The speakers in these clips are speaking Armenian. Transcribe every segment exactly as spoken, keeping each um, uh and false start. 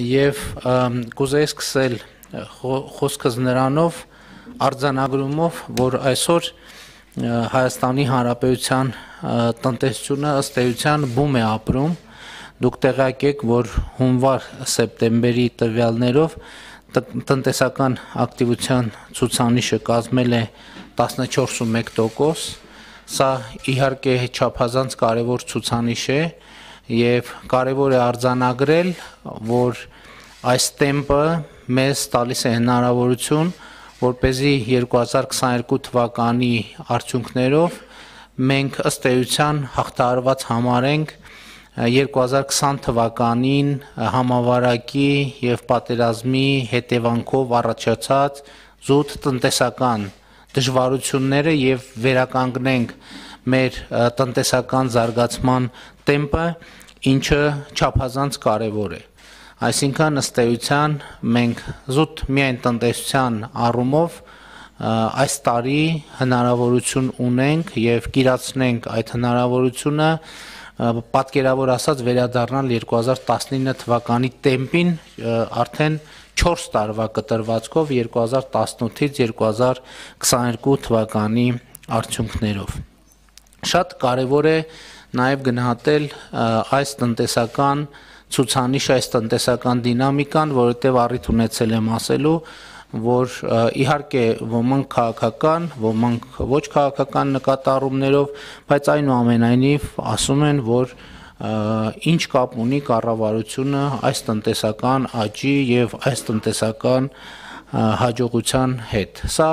եւ կուզեի սկսել խոսքս նրանով արձանագրումով, որ այսօր Հայաստանի Հանրապետության տնտեսությունը ըստ էության բում է ապրում։ Դուք տեղյակ եք, որ հունվար-սեպտեմբերի տվյալներով տնտեսական ակտիվության ցուցանիշը կազմել է տասնչորս կόμma մեկ տոկոս, սա իհարկե չափազանց կարևոր ցուցանիշ է եւ կարևոր է արձանագրել, որ այս տեմպը մեզ տալիս է հնարավորություն, որպեսզի երկու հազար քսաներկու թվականի արդյունքներով մենք ըստ էության հաղթահարված համարենք երկու հազար քսան թվականին համավարակի եւ պատերազմի հետևանքով առաջացած զուտ տնտեսական դժվարությունները եւ վերականգնենք մեր տնտեսական զարգացման տեմպը, ինչը չափազանց կարեւոր է։ Այսինքն ըստ էության մենք զուտ միայն տնտեսության առումով այս տարի հնարավորություն ունենք եւ կիրացնենք այդ հնարավորությունը պատկերավոր ասած վերադառնալ երկու հազար տասնինը թվականի տեմպին արդեն չորս տարվա կտրվածքով երկու հազար տասնութից երկու հազար քսաներկու թվականի արդյունքներով։ Շատ կարևոր է նաեւ գնահատել այս տնտեսական ցուցանիշ, այս տնտեսական դինամիկան, որովհետեւ առիթ ունեցել եմ ասելու, որ իհարկե ոմանք քաղաքական, ոմանք ոչ քաղաքական նկատառումներով, բայց այնուամենայնիվ ասում են, որ ինչ կապ ունի կառավարությունը այս տնտեսական աճի եւ այս տնտեսական հաջողության հետ։ Սա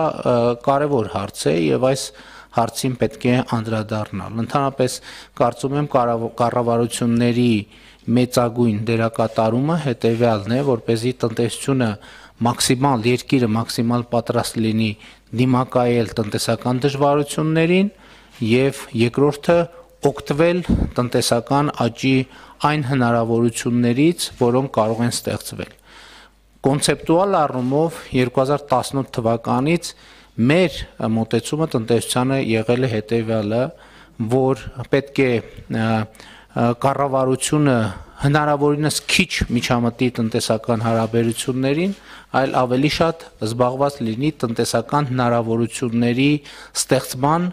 կարևոր հարց է եւ այս հարցին պետք է անդրադառնալ։ Ընդհանրապես կարծում եմ կառավարությունների մեծագույն դերակատարումը հետեւյալն է, որպեսզի տնտեսությունը մաքսիմալ երկիրը մաքսիմալ պատրաստ լինի դիմակայել տնտեսական դժվարություններին եւ երկրորդը օգտվել տնտեսական աճի այն հնարավորություններից, որոնք կարող են ստեղծվել։ Կոնցեպտուալ առումով երկու հազար տասնութ թվականից մեր մոտեցումը տնտեսությանը եղել է հետեւյալը, որ պետք է կառավարությունը հնարավորինս քիչ միջամտի տնտեսական հարաբերություններին, այլ ավելի շատ զբաղված լինի տնտեսական հնարավորությունների ստեղծման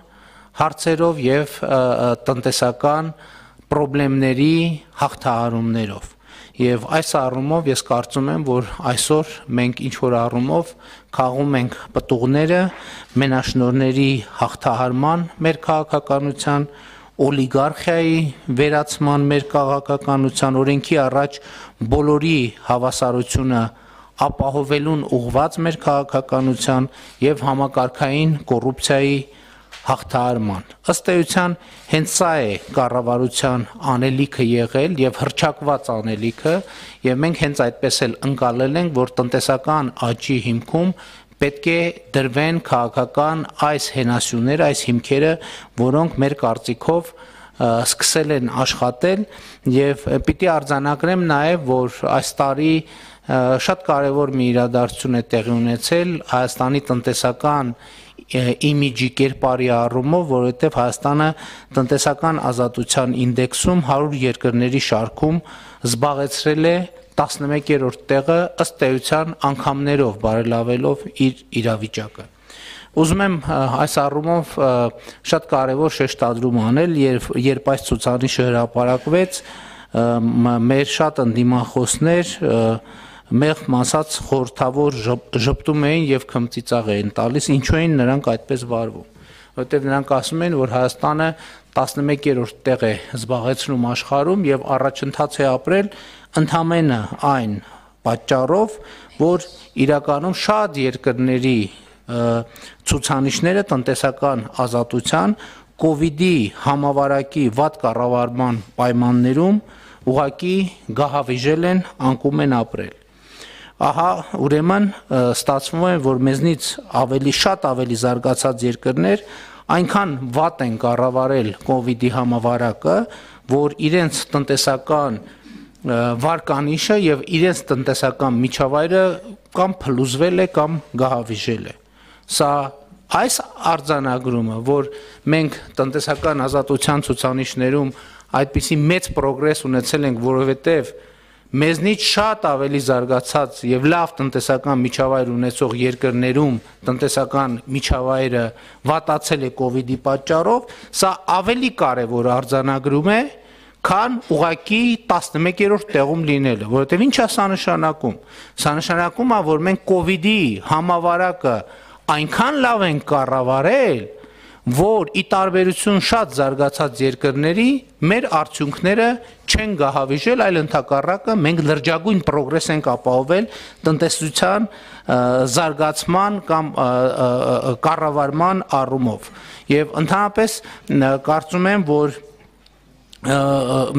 հարցերով եւ տնտեսական խնդիրների հաղթահարումներով։ Եվ այս առումով ես կարծում եմ, որ այսօր մենք ինչ որ առումով քաղում ենք պտուղները մենաշնորհների հաղթահարման մեր քաղաքականության, օլիգարխիայի վերացման մեր քաղաքականության, օրենքի առաջ բոլորի հավասարությունը ապահովելուն ուղղված մեր քաղաքականության եւ համակարգային կոռուպցիայի հաղթահարման։ Ըստ էության հենց սա է կառավարության անելիքը եղել եւ հռչակված անելիքը եւ մենք հենց այդպես էլ ընկալել ենք, որ տնտեսական աճի հիմքում պետք է դրվեն քաղաքական այս հենասյուները, այս հիմքերը, որոնք մեր կարծիքով սկսել են աշխատել եւ պիտի արձանագրեմ նաեւ, որ այս տարի շատ կարևոր մի իրադարձություն է տեղի ունեցել Հայաստանի տնտեսական իմիջի կերպարի առումով, որովհետև Հայաստանը տնտեսական ազատության ինդեքսում հարյուր երկրների շարքում զբաղեցրել է տասնմեկերորդ տեղը ըստ էության անգամներով բարելավելով իր իրավիճակը։ Ուզում եմ այս առումով շատ կարևոր շեշտադրում անել, երբ այս ցուցանիշը հրապարակվեց, մեր շատ ընդդիմախոսներ մեղմ ասած խորհրդավոր ժպտում էին եւ քմծիծաղ էին տալիս, ինչու էին նրանք այդպես վարվում, որովհետեւ նրանք ասում են, որ Հայաստանը տասնմեկերորդ տեղ է զբաղեցնում աշխարհում եւ առաջընթաց է ապրել ընդամենը այն պատճառով, որ իրականում շատ երկրների ցուցանիշները տնտեսական ազատության կոവിഡ്ի համավարակի վատ կառավարման պայմաններում ուղղակի գահավիժել են, անկում են ապրել։ Ահա ուրեմն ստացվում է, որ մեզնից ավելի շատ ավելի զարգացած երկրներ այնքան վատ են կառավարել կոവിഡ്ի համավարակը, որ իրենց տնտեսական վարկանիշը եւ իրենց տնտեսական միջավայրը կամ փլուզվել է կամ գահավիժել է։ Սա այս արձանագրումը, որ մենք տնտեսական ազատության ցուցանիշներում այդպիսի մեծ պրոգրես ունեցել ենք, որովհետեւ մեզնից շատ ավելի զարգացած եւ լավ տնտեսական միջավայր ունեցող երկրներում տնտեսական միջավայրը վատացել է կոവിഡ്ի պատճառով, սա ավելի կարևոր արձանագրում է, քան ուղղակի տասնմեկերորդ տեղում լինելը, որովհետեւ ինչ է սա նշանակում։ Սա նշանակում է, որ մենք կոവിഡ്ի համավարակը այնքան լավ ենք կառավարել, որ ի տարբերություն շատ զարգացած երկրների մեր արդյունքները չեն գահավիժել, այլ ընդհակառակը մենք լրջագույն պրոգրես ենք ապահովել տնտեսության զարգացման կամ կառավարման առումով։ Եվ ընդհանրապես կարծում եմ, որ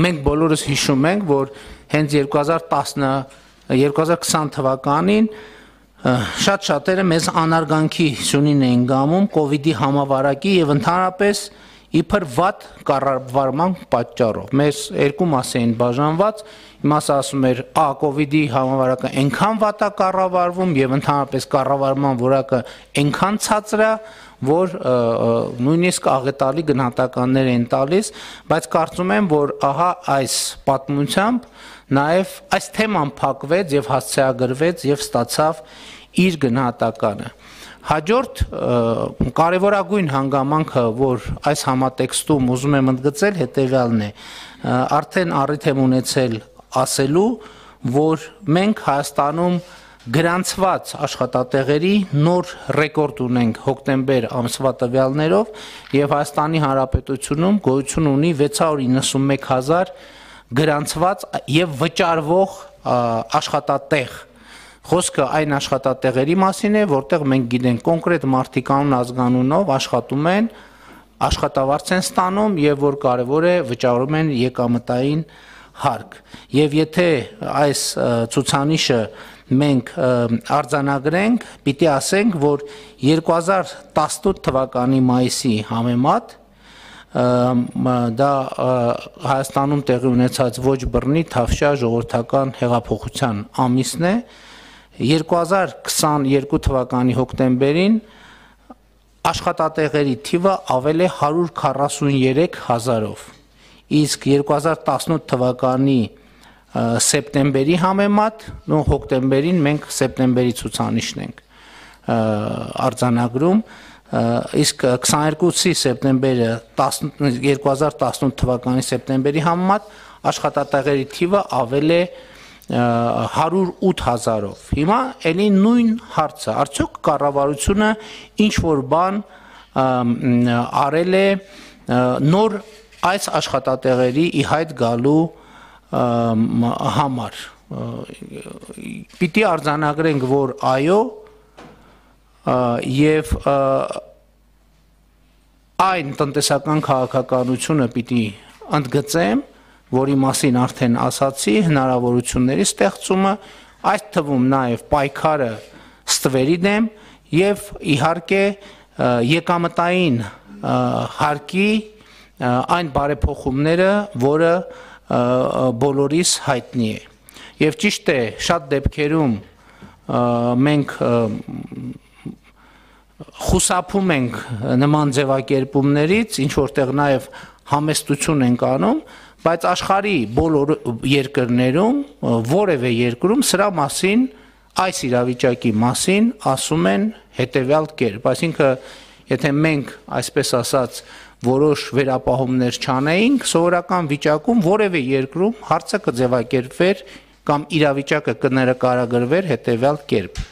մենք բոլորս հիշում ենք, որ հենց երկու հազար քսան թվականին շատ շատերը մեզ անարգանքի սյունին էին գամում կոവിഡ്ի համավարակի եւ ընդհանրապես իբր վատ կառավարման պատճառով։ Մեզ երկու մաս էին բաժանված, մի մասը ասում էր, «Ա կոവിഡ്ի համավարակը այնքան վատ է կառավարվում եւ ընդհանրապես կառավարման որակը այնքան ցածր է, որ նույնիսկ աղետալի գնահատականներ են տալիս», բայց կարծում եմ, որ ահա այս պատմությամբ նաև այս թեման փակվեց եւ հասցեագրվեց եւ ստացավ իր գնահատականը։ Հաջորդ կարևորագույն հանգամանքը, որ այս համատեքստում ուզում եմ ընդգծել, հետեւյալն է։ Արդեն առիթ եմ ունեցել ասելու, որ մենք Հայաստանում գրանցված աշխատատեղերի նոր ռեկորդ ունենք հոկտեմբեր ամսվա տվյալներով եւ Հայաստանի Հանրապետությունում գոյություն ունի վեց հարյուր իննսունմեկ հազար գրանցված եւ վճարվող աշխատատեղ։ Խոսքը այն աշխատատեղերի մասին է, որտեղ մենք գիտենք կոնկրետ մարդիկ անուն ազգանունով աշխատում են, աշխատավարձ են ստանում եւ որ կարեւոր է վճարում են եկամտային հարկ։ Եվ եթե այս ցուցանիշը մենք արձանագրենք, պիտի ասենք, որ երկու հազար տասնութ թվականի մայիսի համեմատ դա Հայաստանում տեղի ունեցած ոչ բռնի թավշյա ժողովրդական հեղափոխության ամիսն է, երկու հազար քսաներկու թվականի հոկտեմբերին աշխատատեղերի թիվը ավել է հարյուր քառասուներեք հազարով, իսկ երկու հազար տասնութ թվականի սեպտեմբերի համեմատ, նո հոկտեմբերին մենք սեպտեմբերի ցուցանիշն ենք արձանագրում, իսկ քսաներկուսի սեպտեմբերը երկու հազար տասնութ թվականի սեպտեմբերի համեմատ աշխատատեղերի թիվը ավել է հարյուր ութ հազարով։ Հիմա էլի նույն հարցը, արդյոք կառավարությունը ինչ որ բան արել է նոր այս աշխատատեղերի ի հայտ գալու համար։ Պիտի արձանագրենք, որ այո, եւ այն տնտեսական քաղաքականությունը պիտի ընդգծեմ, որի մասին արդեն ասացի, հնարավորությունների ստեղծումը, այդ թվում նաև պայքարը ստվերի դեմ եւ իհարկե եկամտային հարկի այն բարեփոխումները, որը բոլորիս հայտնի է։ Եվ ճիշտ է, շատ դեպքերում մենք խուսափում ենք նման ձևակերպումներից, ինչ որտեղ նաև համեստություն ենք անում, բայց աշխարհի բոլոր երկրներում, որևէ երկրում սրա մասին, այս իրավիճակի մասին ասում են հետևյալ կերպ, այսինքն եթե մենք, այսպես ասած, որոշ վերապահումներ չանեինք, սովորական վիճակում որևէ երկրում հարցը կձևակերպվեր կամ իրավիճակը կներկայագրվեր հետևյալ կերպ.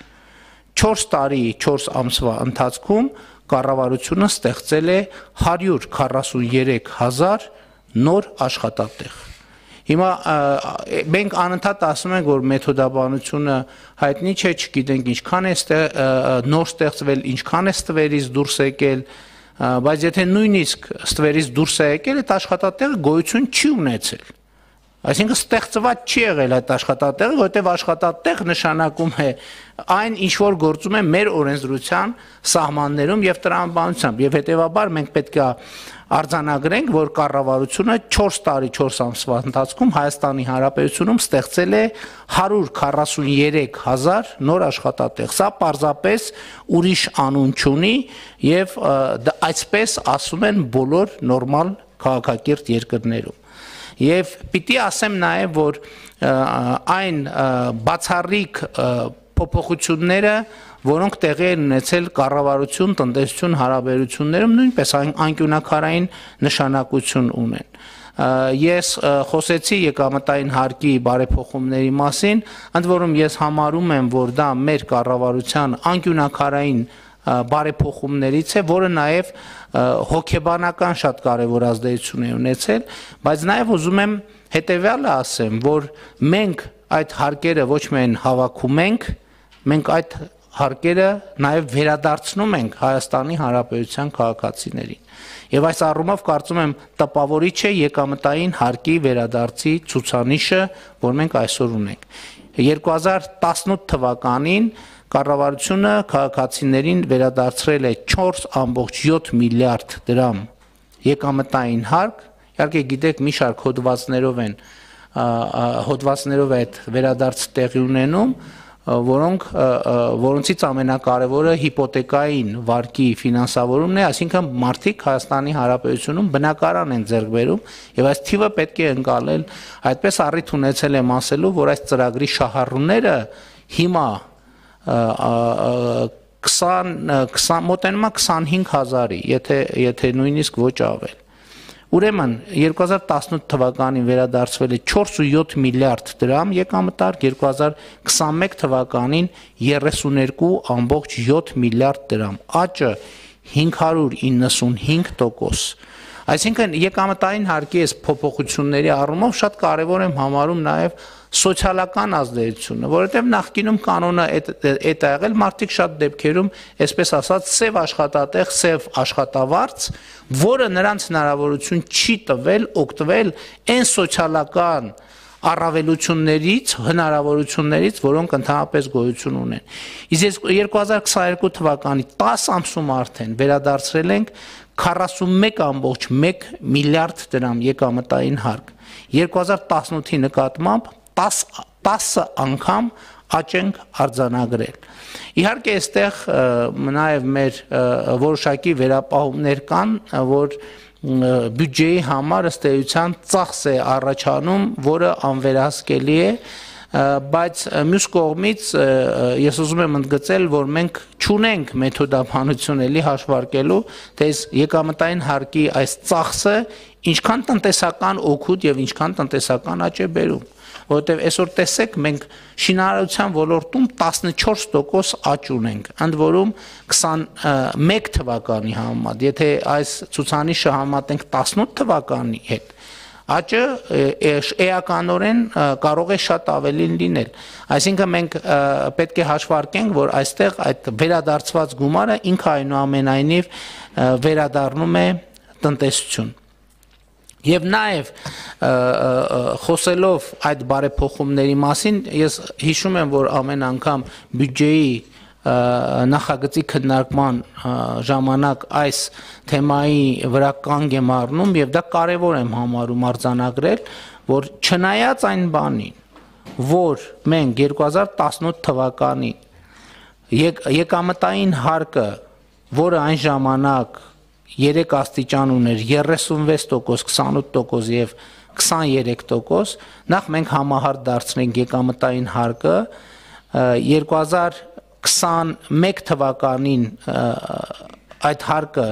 չորս տարի, չորս ամսվա ընթացքում կառավարությունը ստեղծել է հարյուր քառասուներեք հազար նոր աշխատատեղ։ Հիմա մենք անընդհատ ասում ենք, որ մեթոդաբանությունը հայտնի չէ, չգիտենք ինչքան է նոր ստեղծվել, ինչքան է ստվերից դուրս եկել, բայց եթե նույնիսկ ստվերից դուրս է եկել, այդ աշխատատեղը գոյություն չի ունեցել։ Այսինքն ստեղծված չի եղել այդ աշխատատեղը, որովհետև աշխատատեղ նշանակում է այն, ինչ որ գործում է մեր օրենսդրության սահմաններում եւ տրամաբանությամբ, եւ հետեւաբար մենք պետք է արձանագրենք, որ կառավարությունը չորս տարի, չորս ամսվա ընթացքում Հայաստանի Հանրապետությունում ստեղծել է հարյուր քառասուներեք հազար նոր աշխատատեղ։ Սա պարզապես ուրիշ անուն չունի եւ այսպես ասում են բոլոր նորմալ քաղաքակիրթ երկրներում։ Եվ պիտի ասեմ նաև, որ այն բացառիկ փոփոխությունները, որոնք տեղի են ունեցել կառավարություն, տնտեսություն հարաբերություններում, նույնպես անկյունաքարային նշանակություն ունեն։ Ես խոսեցի եկամտային հարկի բարեփոխումների մասին, ընդ որում ես համարում եմ, որ դա մեր կառավարության անկյունաքարային բարեփոխումներից է, որը նաև հոգեբանական շատ կարևոր ազդեցություն է ունեցել, բայց նաև ուզում եմ հետևյալը ասեմ, որ մենք այդ հարկերը ոչ միայն հավաքում ենք, մենք այդ հարկերը նաև վերադարձնում ենք Հայաստանի Հանրապետության քաղաքացիներին։ Եվ այս առումով կարծում եմ տպավորիչ է եկամտային հարկի վերադարձի ցուցանիշը, որ մենք այսօր ունենք։ երկու հազար տասնութ թվականին կառավարությունը քաղաքացիներին վերադարձրել է չորս ամբողջ յոթ միլիարդ դրամ եկամտային հարկ, իհարկե գիտեք մի շարք հոդվածներով են հոդվածներով այդ վերադարձ տեղի ունենում, որոնք որոնցից ամենակարևորը հիպոթեկային վարկի ֆինանսավորումն է, այսինքն մարդիկ Հայաստանի Հանրապետությունում բնակարան են ձեռք բերում եւ այս թիվը պետք է ընկալել, այդպես առիթ ունեցել եմ ասելու, որ այս ծրագրի շահառուները հիմա քսան մոտենում է քսանհինգ հազարի, եթե եթե նույնիսկ ոչ ավել։ Ուրեմն երկու հազար տասնութ թվականին վերադարձվել է չորս ու յոթ միլիարդ դրամ եկամտարկ, երկու հազար քսանմեկ թվականին երեսուներկու ամբողջ յոթ միլիարդ դրամ, աճը հինգ հարյուր իննսունհինգ տոկոս։ Այսինքն եկամտային հարկի այս փոփոխությունների առումով շատ կարևոր եմ համարում նաև սոցիալական ազդեցությունը, որովհետև նախկինում կանոնը այդ է եղել, մարդիկ շատ դեպքերում, այսպես ասած, սև աշխատատեղ, սև աշխատավարձ, որը նրանց հնարավորություն չի տվել օգտվել այն սոցիալական առավելություններից, հնարավորություններից, որոնք ընդհանրապես գոյություն ունեն։ Իսկ երկու հազար քսաներկու թվականի տասը ամսում արդեն վերադարձրել ենք քառասունմեկ ամբողջ մեկ միլիարդ դրամ եկամտային հարկ։ երկու հազար տասնութի նկատմամբ տասը անգամ աճ ենք արձանագրել։ Իհարկե այստեղ նաև մեր որոշակի վերապահումներ կան, որ բյուջեի համար ըստ էության ծախս է առաջանում, որը անվերահսկելի է, բայց մյուս կողմից ես ուզում եմ ընդգծել, որ մենք չունենք մեթոդաբանություն էլի հաշվարկելու, թե եկամտային հարկի այս ծախսը ինչքան տնտեսական օգուտ եւ ինչքան տնտեսական աճ է բերում, որովհետեւ այսօր տեսեք մենք շինարարության ոլորտում տասնչորս տոկոս աճ ունենք, ընդ որում քսանմեկ թվականի համեմատ, եթե այս ցուցանիշը համատենք տասնութ թվականի հետ, աճը էականորեն կարող է շատ ավելին լինել։ Այսինքն մենք պետք է հաշվարկենք, որ այստեղ այդ վերադարձված գումարը ինքը այնուամենայնիվ վերադառնում է տնտեսություն։ Եվ նաև խոսելով այդ բարեփոխումների մասին, ես հիշում եմ, որ ամեն անգամ բյուջեի նախագծի քննարկման ժամանակ այս թեմայի վրա կանգ եմ առնում եւ դա կարեւոր եմ համարում արձանագրել, որ չնայած այն բանին, որ մենք երկու հազար տասնութ թվականին եկամտային հարկը, որը այն ժամանակ երեք աստիճան ուներ երեսունվեց տոկոս, քսանութ տոկոս եւ քսաներեք տոկոս, նախ մենք համահարթ դարձնենք եկամտային հարկը երկու հազար քսանմեկ թվականին այդ հարկը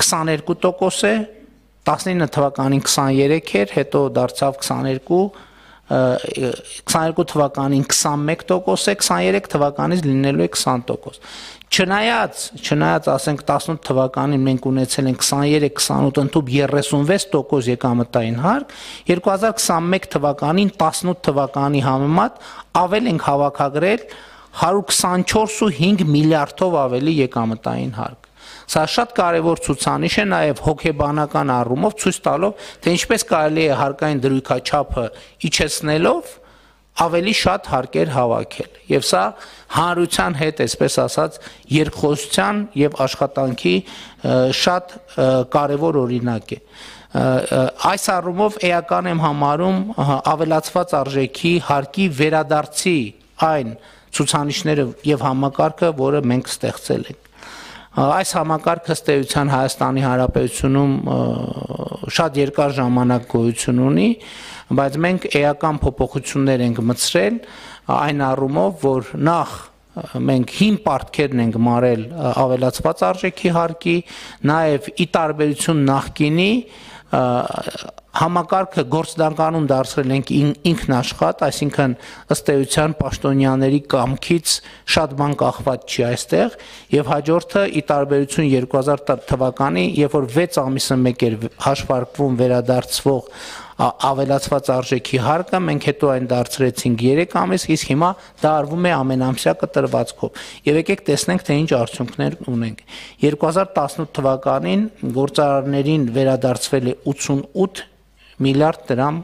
քսաներկու տոկոս է, տասնինը թվականին քսաներեք էր, հետո դարձավ քսաներկու, քսաներկու թվականին քսանմեկ տոկոս է, քսաներեք թվականից լինելու է քսան տոկոս։ Չնայած, չնայած ասենք տասնութ թվականին մենք ունեցել ենք քսաներեք քսանութ ընդհուպ երեսունվեց տոկոս եկամտային հարկ, երկու հազար քսանմեկ թվականին տասնութ թվականի համեմատ ավել ենք հավաքագրել հարյուր քսանչորս ու հինգ միլիարդով ավելի եկամտային հարկ։ Սա շատ կարևոր ցուցանիշ է նաև հոգեբանական առումով, ցույց տալով, թե ինչպես կարելի է հարկային դրույքաչափը իջեցնելով ավելի շատ հարկեր հավաքել։ Եվ սա հանրության հետ, այսպես ասած, երկխոսության եւ աշխատանքի շատ կարևոր օրինակ է։ Այս առումով էական եմ համարում ավելացված արժեքի հարկի վերադարձի այն ցուցանիշները եւ համակարգը, որը մենք ստեղծել ենք։ Այս համակարգը ըստ էության Հայաստանի Հանրապետությունում շատ երկար ժամանակ գոյություն ունի, բայց մենք էական փոփոխություններ ենք մտցրել այն առումով, որ նախ մենք հին պարտքերն ենք մարել ավելացված արժեքի հարկի, նաև ի տարբերություն նախկինի համակարգը գործնականում դարձրել ենք ինքնաշխատ, այսինքն ըստ էության պաշտոնյաների կամքից շատ բան կախված չի այստեղ, եւ հաջորդը ի տարբերություն երկու հազար թվականի, երբ որ վեց ամիսը մեկ էր հաշվարկվում վերադարձվող ավելացված արժեքի հարկը, մենք հետո այն դարձրեցինք երեք ամիս, իսկ հիմա դա արվում է ամենամսյա կտրվածքով։ Եվ եկեք տեսնենք, թե ինչ արդյունքներ ունենք։ երկու հազար տասնութ թվականին գործարարներին վերադարձվել է ութսունութ միլիարդ դրամ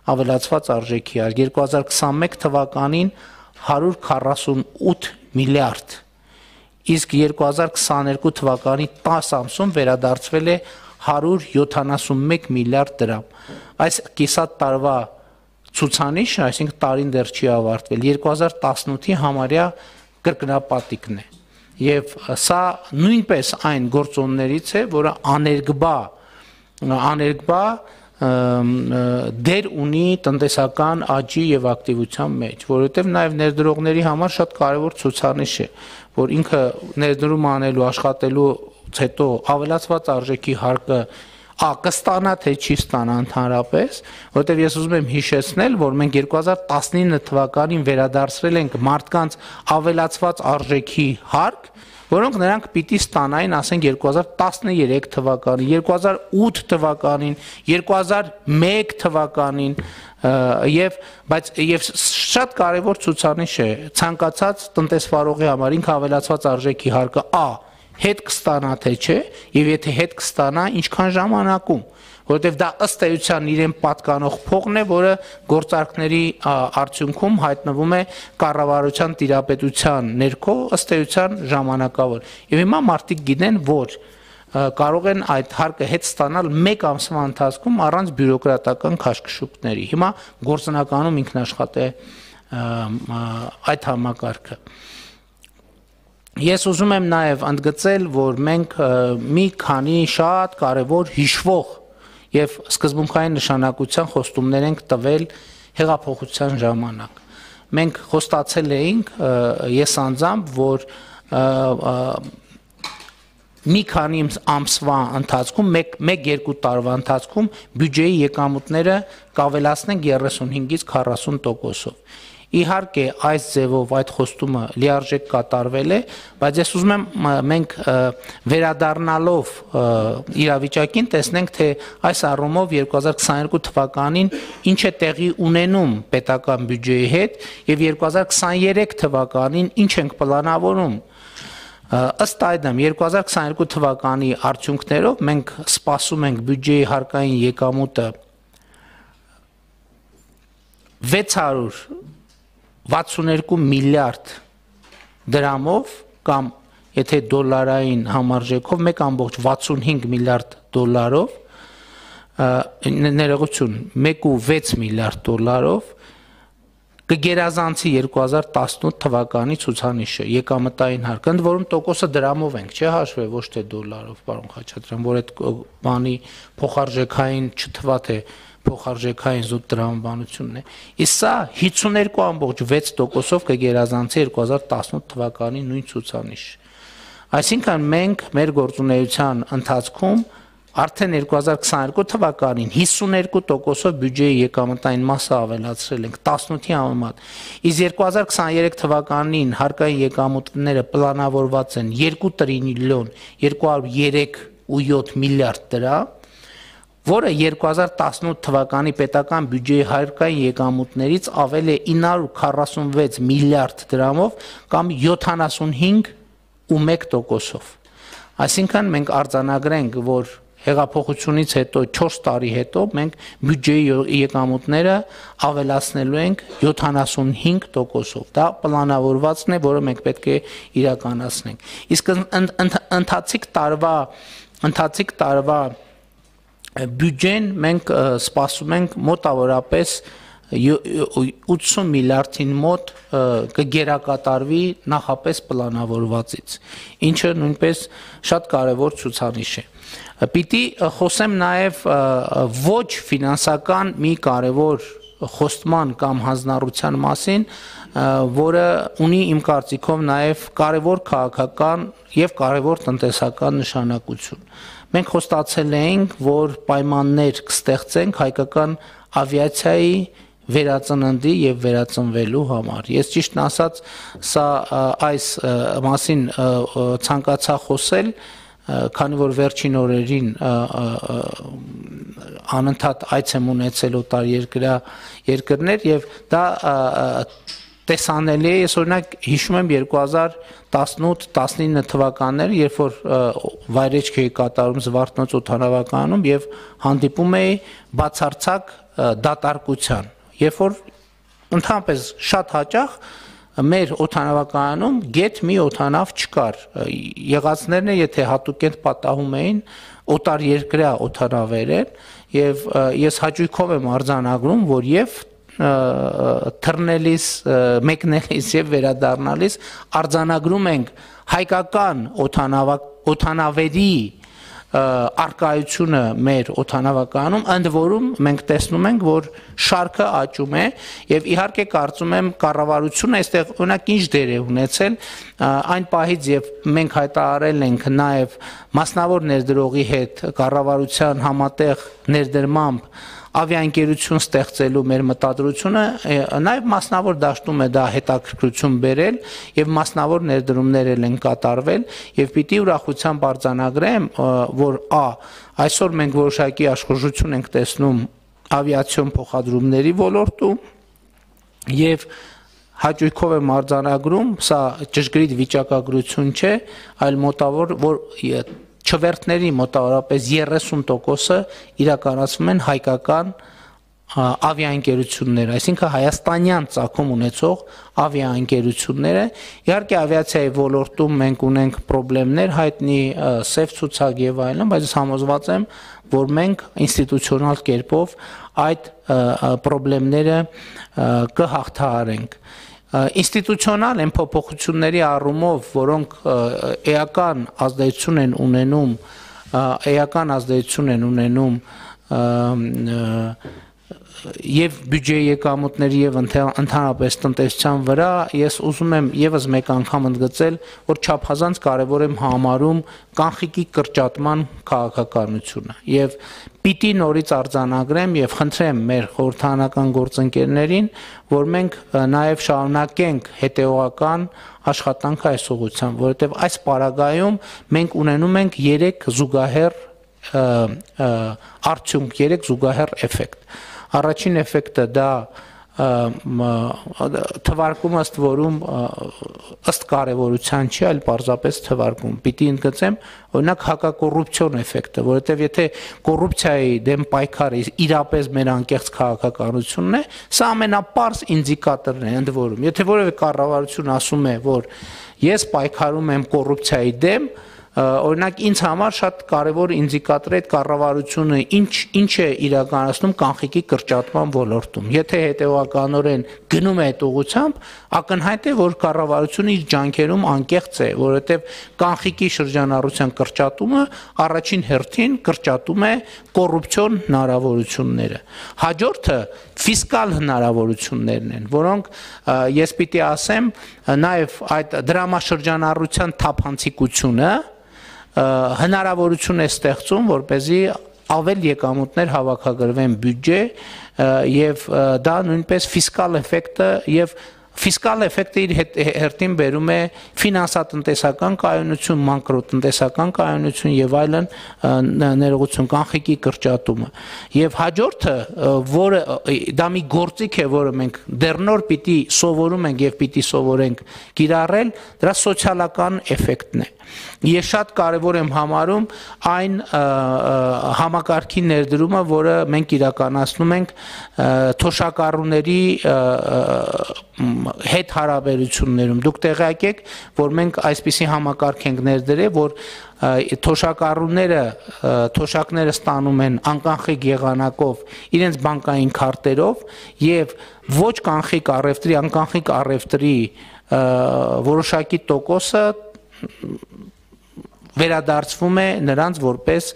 ավելացված արժեքի հարկ, երկու հազար քսանմեկ թվականին հարյուր քառասունութ միլիարդ, իսկ երկու հազար քսաներկու թվականի տասը ամսում վերադարձվել է հարյուր յոթանասունմեկ միլիարդ դրամ։ Այս կիսատ տարվա ցուցանիշը, այսինքն տարին դեռ չի ավարտվել, երկու հազար տասնութի համարյա կրկնապատիկն է։ Եվ սա նույնպես այն գործոններից է, որը աներկբա աներկբա դեր ունի տնտեսական աճի եւ ակտիվության մեջ, որովհետեւ նաեւ ներդրողների համար շատ կարեւոր ցուցանիշ է, որ ինքը ներդրում անելու, աշխատելու հետո ավելացված արժեքի հարկը ա կստանա թե չի ստանա ընդհանրապես, որովհետև ես ուզում եմ հիշեցնել, որ մենք երկու հազար տասնինը թվականին վերադարձրել ենք մարդկանց ավելացված արժեքի հարկ, որոնք նրանք պիտի ստանային, ասենք երկու հազար տասներեք թվականին, երկու հազար ութ թվականին, երկու հազար մեկ թվականին, եւ բայց եւ շատ կարեւոր ցուցանիշ է ցանկացած տնտեսվարողի համար ինքը ավելացված արժեքի հարկը ա հետ կստանա թե չէ, եւ եթե հետ կստանա, ինչքան ժամանակում, որովհետեւ դա ըստ էության իրեն պատկանող փողն է, որը գործարքների արդյունքում հայտնվում է կառավարության տիրապետության ներքո, ըստ էության ժամանակավոր։ Եվ հիմա մարդիկ գիտեն, որ կարող են այդ հարկը հետ ստանալ մեկ ամսվա ընթացքում առանց բյուրոկրատական քաշքշուկների։ Հիմա գործնականում ինքնաշխատ է այդ համակարգը։ Ես ուզում եմ նաև ընդգծել, որ մենք մի քանի շատ կարևոր հիշվող եւ սկզբունքային նշանակության խոստումներ ենք տվել հեղափոխության ժամանակ։ Մենք խոստացել էինք, ես անձամբ, որ մի քանի ամսվա ընթացքում, մեկ-երկու տարվա ընթացքում բյուջեի եկամուտները կավելացնենք երեսունհինգից քառասուն տոկոսով։ Իհարկե այս ձևով այդ խոստումը լիարժեք կատարվել է, բայց ես ուզում եմ մենք վերադառնալով իրավիճակին տեսնենք, թե այս առումով երկու հազար քսաներկու թվականին ինչ է տեղի ունենում պետական բյուջեի հետ եւ երկու հազար քսաներեք թվականին ինչ ենք պլանավորում։ Ըստ այդմ երկու հազար քսաներկու թվականի արդյունքներով մենք սպասում ենք բյուջեի հարկային եկամուտը վեց հարյուր վաթսունհինգ միլիարդ դրամով կամ եթե դոլարային համարժեքով մեկ ամբողջ վաթսունհինգ միլիարդ դոլարով ներողություն մեկ ու վեց միլիարդ դոլարով կգերազանցի երկու հազար տասնութ թվականի ցուցանիշը եկամտային հարկ, ընդ որում տոկոսը դրամով ենք, չէ՞ հաշվել, ոչ թե դոլարով, պարոն Խաչատրյան, որ այդ բանի փոխարժեքային չթվա թե փոխարժեքային զուտ տրամաբանությունն է։ Իսկ սա հիսուներկու ամբողջ վեց տոկոսով կգերազանցի երկու հազար տասնութ թվականի նույն ցուցանիշ։ Այսինքն մենք մեր գործունեության ընթացքում արդեն երկու հազար քսաներկու թվականին հիսուներկու տոկոսով բյուջեի եկամտային մասը ավելացրել ենք տասնութի համեմատ։ Իսկ երկու հազար քսաներեք թվականին հարկային եկամուտները պլանավորված են երկու տրիլիոն երկու հարյուր երեք ու յոթ միլիարդ դրամ, որը երկու հազար տասնութ թվականի պետական բյուջեի հարկային եկամուտներից ավել է ինը հարյուր քառասունվեց միլիարդ դրամով կամ յոթանասունհինգ ու մեկ տոկոսով։ Այսինքն մենք արձանագրենք, որ հեղափոխությունից հետո չորս տարի հետո մենք բյուջեի եկամուտները ավելացնելու ենք յոթանասունհինգ տոկոսով։ Դա պլանավորվածն է, որը մենք պետք է իրականացնենք։ Իսկ ընթացիկ տարվա ընթացիկ տարվա բյուջեն մենք սպասում ենք մոտավորապես ութսուն միլիարդին մոտ կգերակատարվի նախապես պլանավորվածից, ինչը նույնպես շատ կարևոր ցուցանիշ է։ Պիտի խոսեմ նաև ոչ ֆինանսական մի կարևոր խոստման կամ հանձնառության մասին, որը ունի իմ կարծիքով նաև կարևոր քաղաքական եւ կարևոր տնտեսական նշանակություն։ Մենք խոստացել էինք, որ պայմաններ կստեղծենք հայկական ավիացիայի վերածննդի եւ վերածնվելու համար։ Ես ճիշտն ասած, սա այս մասին ցանկացա խոսել, քանի որ վերջին օրերին անընդհատ այց եմ ունեցել օտարերկրյա երկրներ եւ դա տեսանելի է, ես օրինակ հիշում եմ երկու հազար տասնութ տասնինը թվականները, երբ որ վայրեջք էի կատարում Զվարթնոց օդանավակայանում եւ հանդիպում էի բացարձակ դատարկության, երբ որ ընդհանրապես շատ հաճախ մեր օդանավակայանում գետ մի օդանավ չկար, եղածներն եթե հատուկենտ պատահում էին օտարերկրյա օդանավեր են եւ ես հաճույքով եմ արձանագրում, որ եւ թռնելիս, մեկնելիս եւ վերադառնալիս արձանագրում ենք հայկական օդանավերի արկայությունը մեր օդանավակայանում, ընդ որում մենք տեսնում ենք, որ շարքը աճում է եւ իհարկե կարծում եմ կառավարությունը այստեղ օրինակ ինչ դեր է ունեցել այն պահից եւ մենք հայտարարել ենք նաեւ մասնավոր ներդրողի հետ կառավարության համատեղ ներդրմամբ ավիաընկերություն ստեղծելու մեր մտադրությունը նաև մասնավոր դաշտում է դա հետաքրքրություն բերել եւ մասնավոր ներդրումներ են կատարվել եւ պիտի ուրախությամբ արձանագրեմ, որ ա այսօր մենք որոշակի աշխուժություն ենք տեսնում ավիացիոն փոխադրումների ոլորտում եւ հաճույքով եմ արձանագրում, սա ճշգրիտ վիճակագրություն չէ, այլ մոտավոր որ չվերթների մոտավորապես երեսուն տոկոսը իրականացվում են հայկական ավիաընկերությունները, այսինքն հայաստանյան ծագում ունեցող ավիաընկերությունները, իհարկե ավիացիայի ոլորտում մենք ունենք խնդիրներ, հայտնի սև ցուցակ եւ այլն, բայց ես համոզված եմ, որ մենք ինստիտուցիոնալ կերպով այդ խնդիրները կհաղթահարենք։ Ինստիտուցիոնալ են փոփոխությունների առումով, որոնք էական ազդեցություն են ունենում, էական ազդեցություն են ունենում եւ բյուջեի եկամուտների եւ ընդհանրապես տնտեսության վրա, ես ուզում եմ եւս մեկ անգամ ընդգծել, որ չափազանց կարեւոր եմ համարում կանխիկի կրճատման քաղաքականությունը եւ պիտի նորից արձանագրեմ եւ խնդրեմ մեր խորհրդարանական գործընկերներին, որ մենք նաեւ շարունակենք հետեւողական աշխատանքը այս ուղղությամբ, որովհետեւ այս պարագայում մենք ունենում ենք երեք զուգահեռ արդյունք, երեք զուգահեռ էֆեկտ։ Առաջին էֆեկտը դա թվարկում ըստ որում ըստ կարևորության չի, այլ պարզապես թվարկում։ Պիտի ընդգծեմ օրինակ հակակոռուպցիոն էֆեկտը, որովհետև եթե կոռուպցիայի դեմ պայքարը իրապես մեր անկեղծ քաղաքականությունն է, սա ամենապարզ ինդիկատորն է ընդ որում։ Եթե որևէ կառավարություն ասում է, որ ես պայքարում եմ կոռուպցիայի դեմ, օրինակ ինձ համար շատ կարևոր ինդիկատոր է այդ կառավարությունը ինչ ինչ է իրականացնում կանխիկի կրճատման ոլորտում։ Եթե հետևականորեն գնում է այդ ուղղությամբ, ակնհայտ է, որ կառավարությունը իր ջանքերում անկեղծ է, որովհետև կանխիկի շրջանառության կրճատումը առաջին հերթին կրճատում է կոռուպցիոն հնարավորությունները։ Հաջորդը ֆիսկալ հնարավորություններն են, որոնք ես պիտի ասեմ, նաև այդ դրամաշրջանառության թափանցիկությունը հնարավորություն է ստեղծում, որպեսզի ավել եկամուտներ հավաքագրվեն բյուջե եւ դա նույնպես ֆիսկալ էֆեկտը եւ ֆիսկալ էֆեկտը իր հերթին բերում է ֆինանսատնտեսական կայունություն, մակրոտնտեսական կայունություն եւ այլն ներողություն կանխիկի կրճատումը։ Եվ հաջորդը, որը դա մի գործիք է, որը մենք դեռ նոր պիտի սովորում ենք եւ պիտի սովորենք կիրառել, դրա սոցիալական էֆեկտն է։ Ես շատ կարևոր եմ համարում այն համակարգի ներդրումը, որը մենք իրականացնում ենք թոշակառուների հետ հարաբերություններում դուք տեղյակ եք, որ մենք այսպիսի համակարգ ենք ներդրել, որ թոշակառուները թոշակները ստանում են անկանխիկ եղանակով իրենց բանկային քարտերով եւ ոչ կանխիկ առևտրի, անկանխիկ առևտրի որոշակի տոկոսը վերադարձվում է նրանց որպես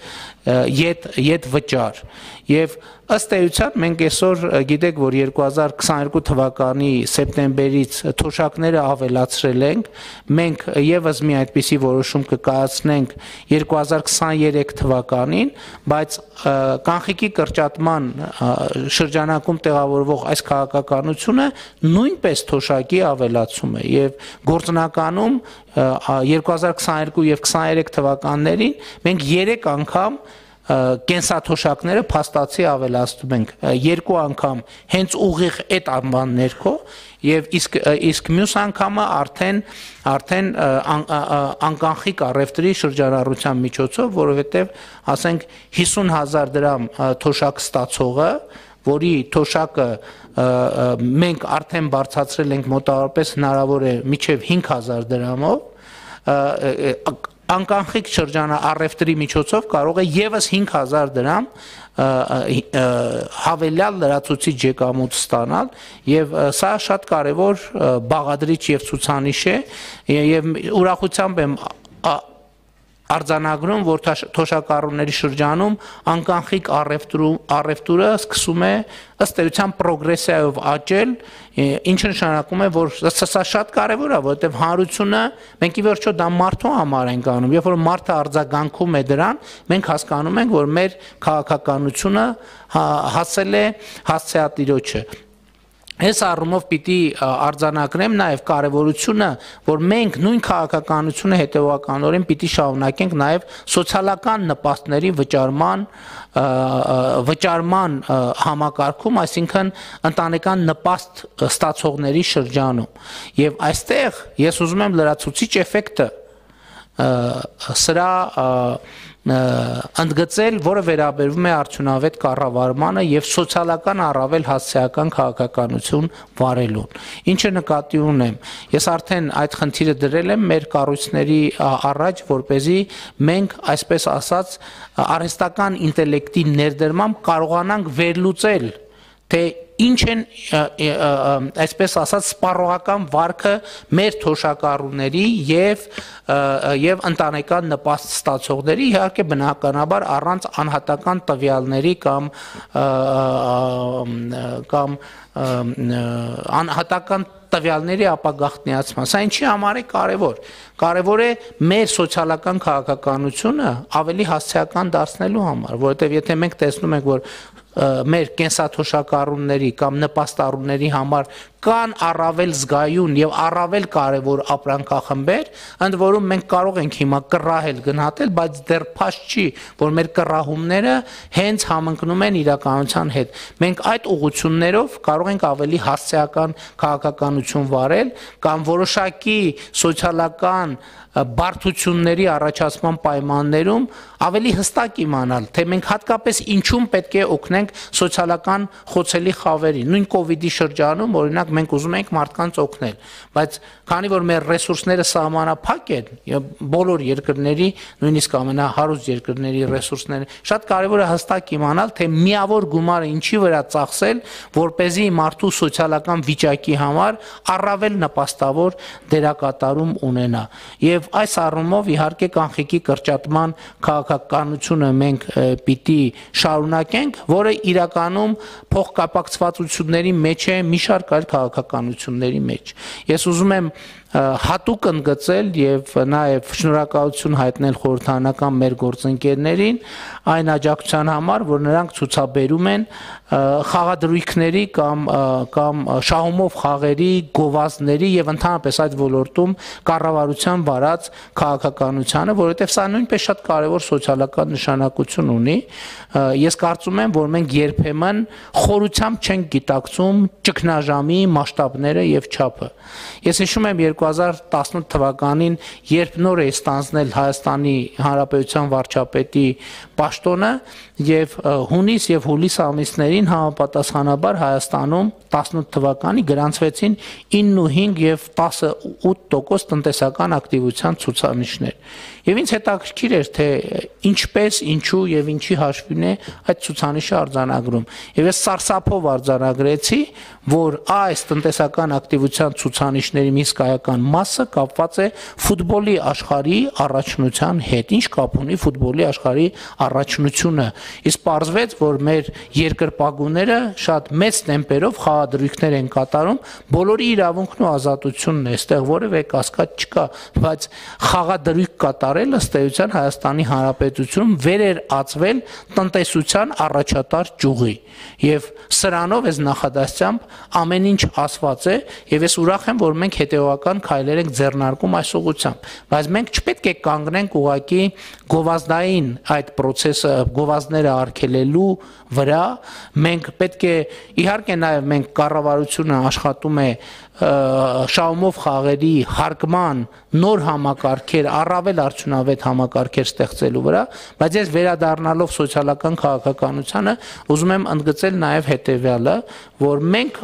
յետ յետ վճար եւ ըստ էության մենք այսօր գիտեք որ երկու հազար քսաներկու թվականի սեպտեմբերից թոշակները ավելացրել ենք մենք եւս մի այդպիսի որոշում կկայացնենք երկու հազար քսաներեք թվականին բայց կանխիկի կրճատման շրջանակում տեղավորվող այս քաղաքականությունը նույնպես թոշակի ավելացում է եւ գործնականում երկու հազար քսաներկու եւ քսաներեք թվականներին մենք երեք անգամ կենսաթոշակները փաստացի ավելացնում ենք երկու անգամ հենց ուղիղ այդ անվան ներքո եւ իսկ իսկ մյուս անգամը արդեն արդեն անկանխիկ առևտրի շրջանառության միջոցով որովհետեւ ասենք հիսուն հազար դրամ թոշակ ստացողը որի թոշակը մենք արդեն բարձրացրել ենք մոտավորապես հնարավոր է մինչեւ հինգ հազար դրամով անկանխիկ շրջանա առևտրի միջոցով կարող է եւս հինգ հազար դրամ հավելյալ լրացուցիչ եկամուտ ստանալ եւ սա շատ կարեւոր բաղադրիչ եւ ցուցանիշ է եւ ուրախությամբ եմ արձանագրում, որ թոշակառուների շրջանում անկանխիկ առևտուրը սկսում է ըստ էության պրոգրեսիայով աճել, ինչը նշանակում է, որ սա շատ կարևոր է, որովհետև հանրությունը մենք ի վերջո դա մարդու համար ենք անում, երբ որ մարդը արձագանքում է դրան, մենք հասկանում ենք, որ մեր քաղաքականությունը հասել է հասցեատիրոջը։ Այս առումով պիտի արձանագրեմ նաև կարևորությունը, որ մենք նույն քաղաքականությունը հետևականորեն պիտի շարունակենք նաև սոցիալական նպաստների վճարման վճարման համակարգում, այսինքն ընտանեկան նպաստ ստացողների շրջանում։ Եվ այստեղ ես ուզում եմ լրացուցիչ էֆեկտը սրա ընդգծել, որը վերաբերվում է արդյունավետ կառավարմանը եւ սոցիալական առավել հասցեական քաղաքականություն վարելուն։ Ինչը նկատի ունեմ, ես արդեն այդ խնդիրը դրել եմ մեր կառույցների առաջ, որպեսզի մենք, այսպես ասած, արհեստական ինտելեկտի ներդրմամբ կարողանանք վերլուծել, թե ինչ են այսպես ասած սպառողական վարքը մեր թոշակառուների եւ եւ ընտանեկան նպաստ ստացողների, իհարկե բնականաբար առանց անհատական տվյալների կամ կամ անհատական տվյալների ապագաղտնիացման։ Սա ինչի համար է կարևոր։ Կարևոր է մեր սոցիալական քաղաքականությունը ավելի հասցեական դարձնելու համար, որովհետև եթե մենք տեսնում ենք, որ մեր կենսաթոշակառուների կամ նպաստառուների համար կան առավել զգայուն եւ առավել կարեւոր ապրանքախմբեր, ընդ որում մենք կարող ենք հիմա կռահել գնահատել, բայց դեռ փաստ չի, որ մեր կռահումները հենց համընկնում են իրականության հետ։ Մենք այդ ուղղություններով կարող ենք ավելի հասցեական քաղաքականություն վարել կամ որոշակի սոցիալական բարդությունների առաջացման պայմաններում ավելի հստակ իմանալ, թե մենք հատկապես ինչում պետք է օգնենք սոցիալական խոցելի խավերին։ Նույն կոവിഡ്ի շրջանում, օրինակ, մենք ուզում ենք մարդկանց օգնել, բայց քանի որ մեր ռեսուրսները սահմանափակ են, բոլոր երկրների, նույնիսկ ամենահարուստ երկրների ռեսուրսները, շատ կարևոր է հստակ իմանալ, թե միավոր գումարը ինչի վրա ծախսել, որպեսզի մարդու սոցիալական վիճակի համար առավել նպաստավոր դերակատարում ունենա։ Եվ այս առումով իհարկե կանխիկի կրճատման քաղաքականությունը մենք պիտի շարունակենք, որը իրականում փոխկապակցվածությունների մեջ է մի շարք այլ քաղաքականությունների մեջ։ Ես ուզում եմ հատուկ ընդգծել եւ նաեւ շնորհակալություն հայտնել խորհրդարանական մեր գործընկերներին այն աջակցության համար, որ նրանք ցուցաբերում են խաղադրույքների կամ կամ շահումով խաղերի, գովազդների եւ ընդհանրապես այդ ոլորտում կառավարության վարած քաղաքականությանը, որովհետեւ սա նույնպես շատ կարեւոր սոցիալական նշանակություն ունի։ Ես կարծում եմ, որ մենք երբեմն խորությամբ չենք գիտակցում ճգնաժամի մասշտաբները եւ չափը։ Ես հիշում եմ երկու հազար տասնութ թվականին, երբ նոր է ստանձնել Հայաստանի Հանրապետության վարչապետի պաշտոնը եւ հունիս եւ հուլիս ամիսներին համապատասխանաբար Հայաստանում տասնութ թվականի գրանցվեցին իննուհինգ եւ տասնութ տոկոս տնտեսական ակտիվության ցուցանիշներ։ Եվ ինձ հետաքրքիր էր, թե ինչպես, ինչու եւ ինչի հաշվին է այդ ցուցանիշը արձանագրում։ Եվ ես սարսափով արձանագրեցի, որ այս տնտեսական ակտիվության ցուցանիշների մի հսկայական մասը կապված է ֆուտբոլի աշխարհի առաջնության հետ։ Ինչ կապ ունի ֆուտբոլի աշխարհի առաջնությունը։ Իսկ պարզվեց, որ մեր երկրպագուները շատ մեծ տեմպերով խաղադրույքներ են կատարում, բոլորի իրավունքն ու ազատությունն է, այստեղ որևէ կասկած չկա, բայց խաղադրույք կատարելը ըստ էության Հայաստանի Հանրապետությունում վեր էր ածվել տնտեսության առաջատար ճյուղի։ Եվ սրանով ես նախադասությամբ ամեն ինչ ասված է, եւ ես ուրախ եմ, որ մենք հետեւական քայլեր ենք ձեռնարկում այս ուղղությամբ, բայց մենք չպետք է կանգնենք ուղղակի գովազդային այդ process-ը, գովազդները արգելելու վրա, մենք պետք է իհարկե նաեւ մենք կառավարությունը աշխատում է շահումով խաղերի հարգման նոր համակարգեր, առավել արդյունավետ համակարգեր ստեղծելու վրա, բայց ես վերադառնալով սոցիալական քաղաքականությանը ուզում եմ ընդգծել նաև հետևյալը, որ մենք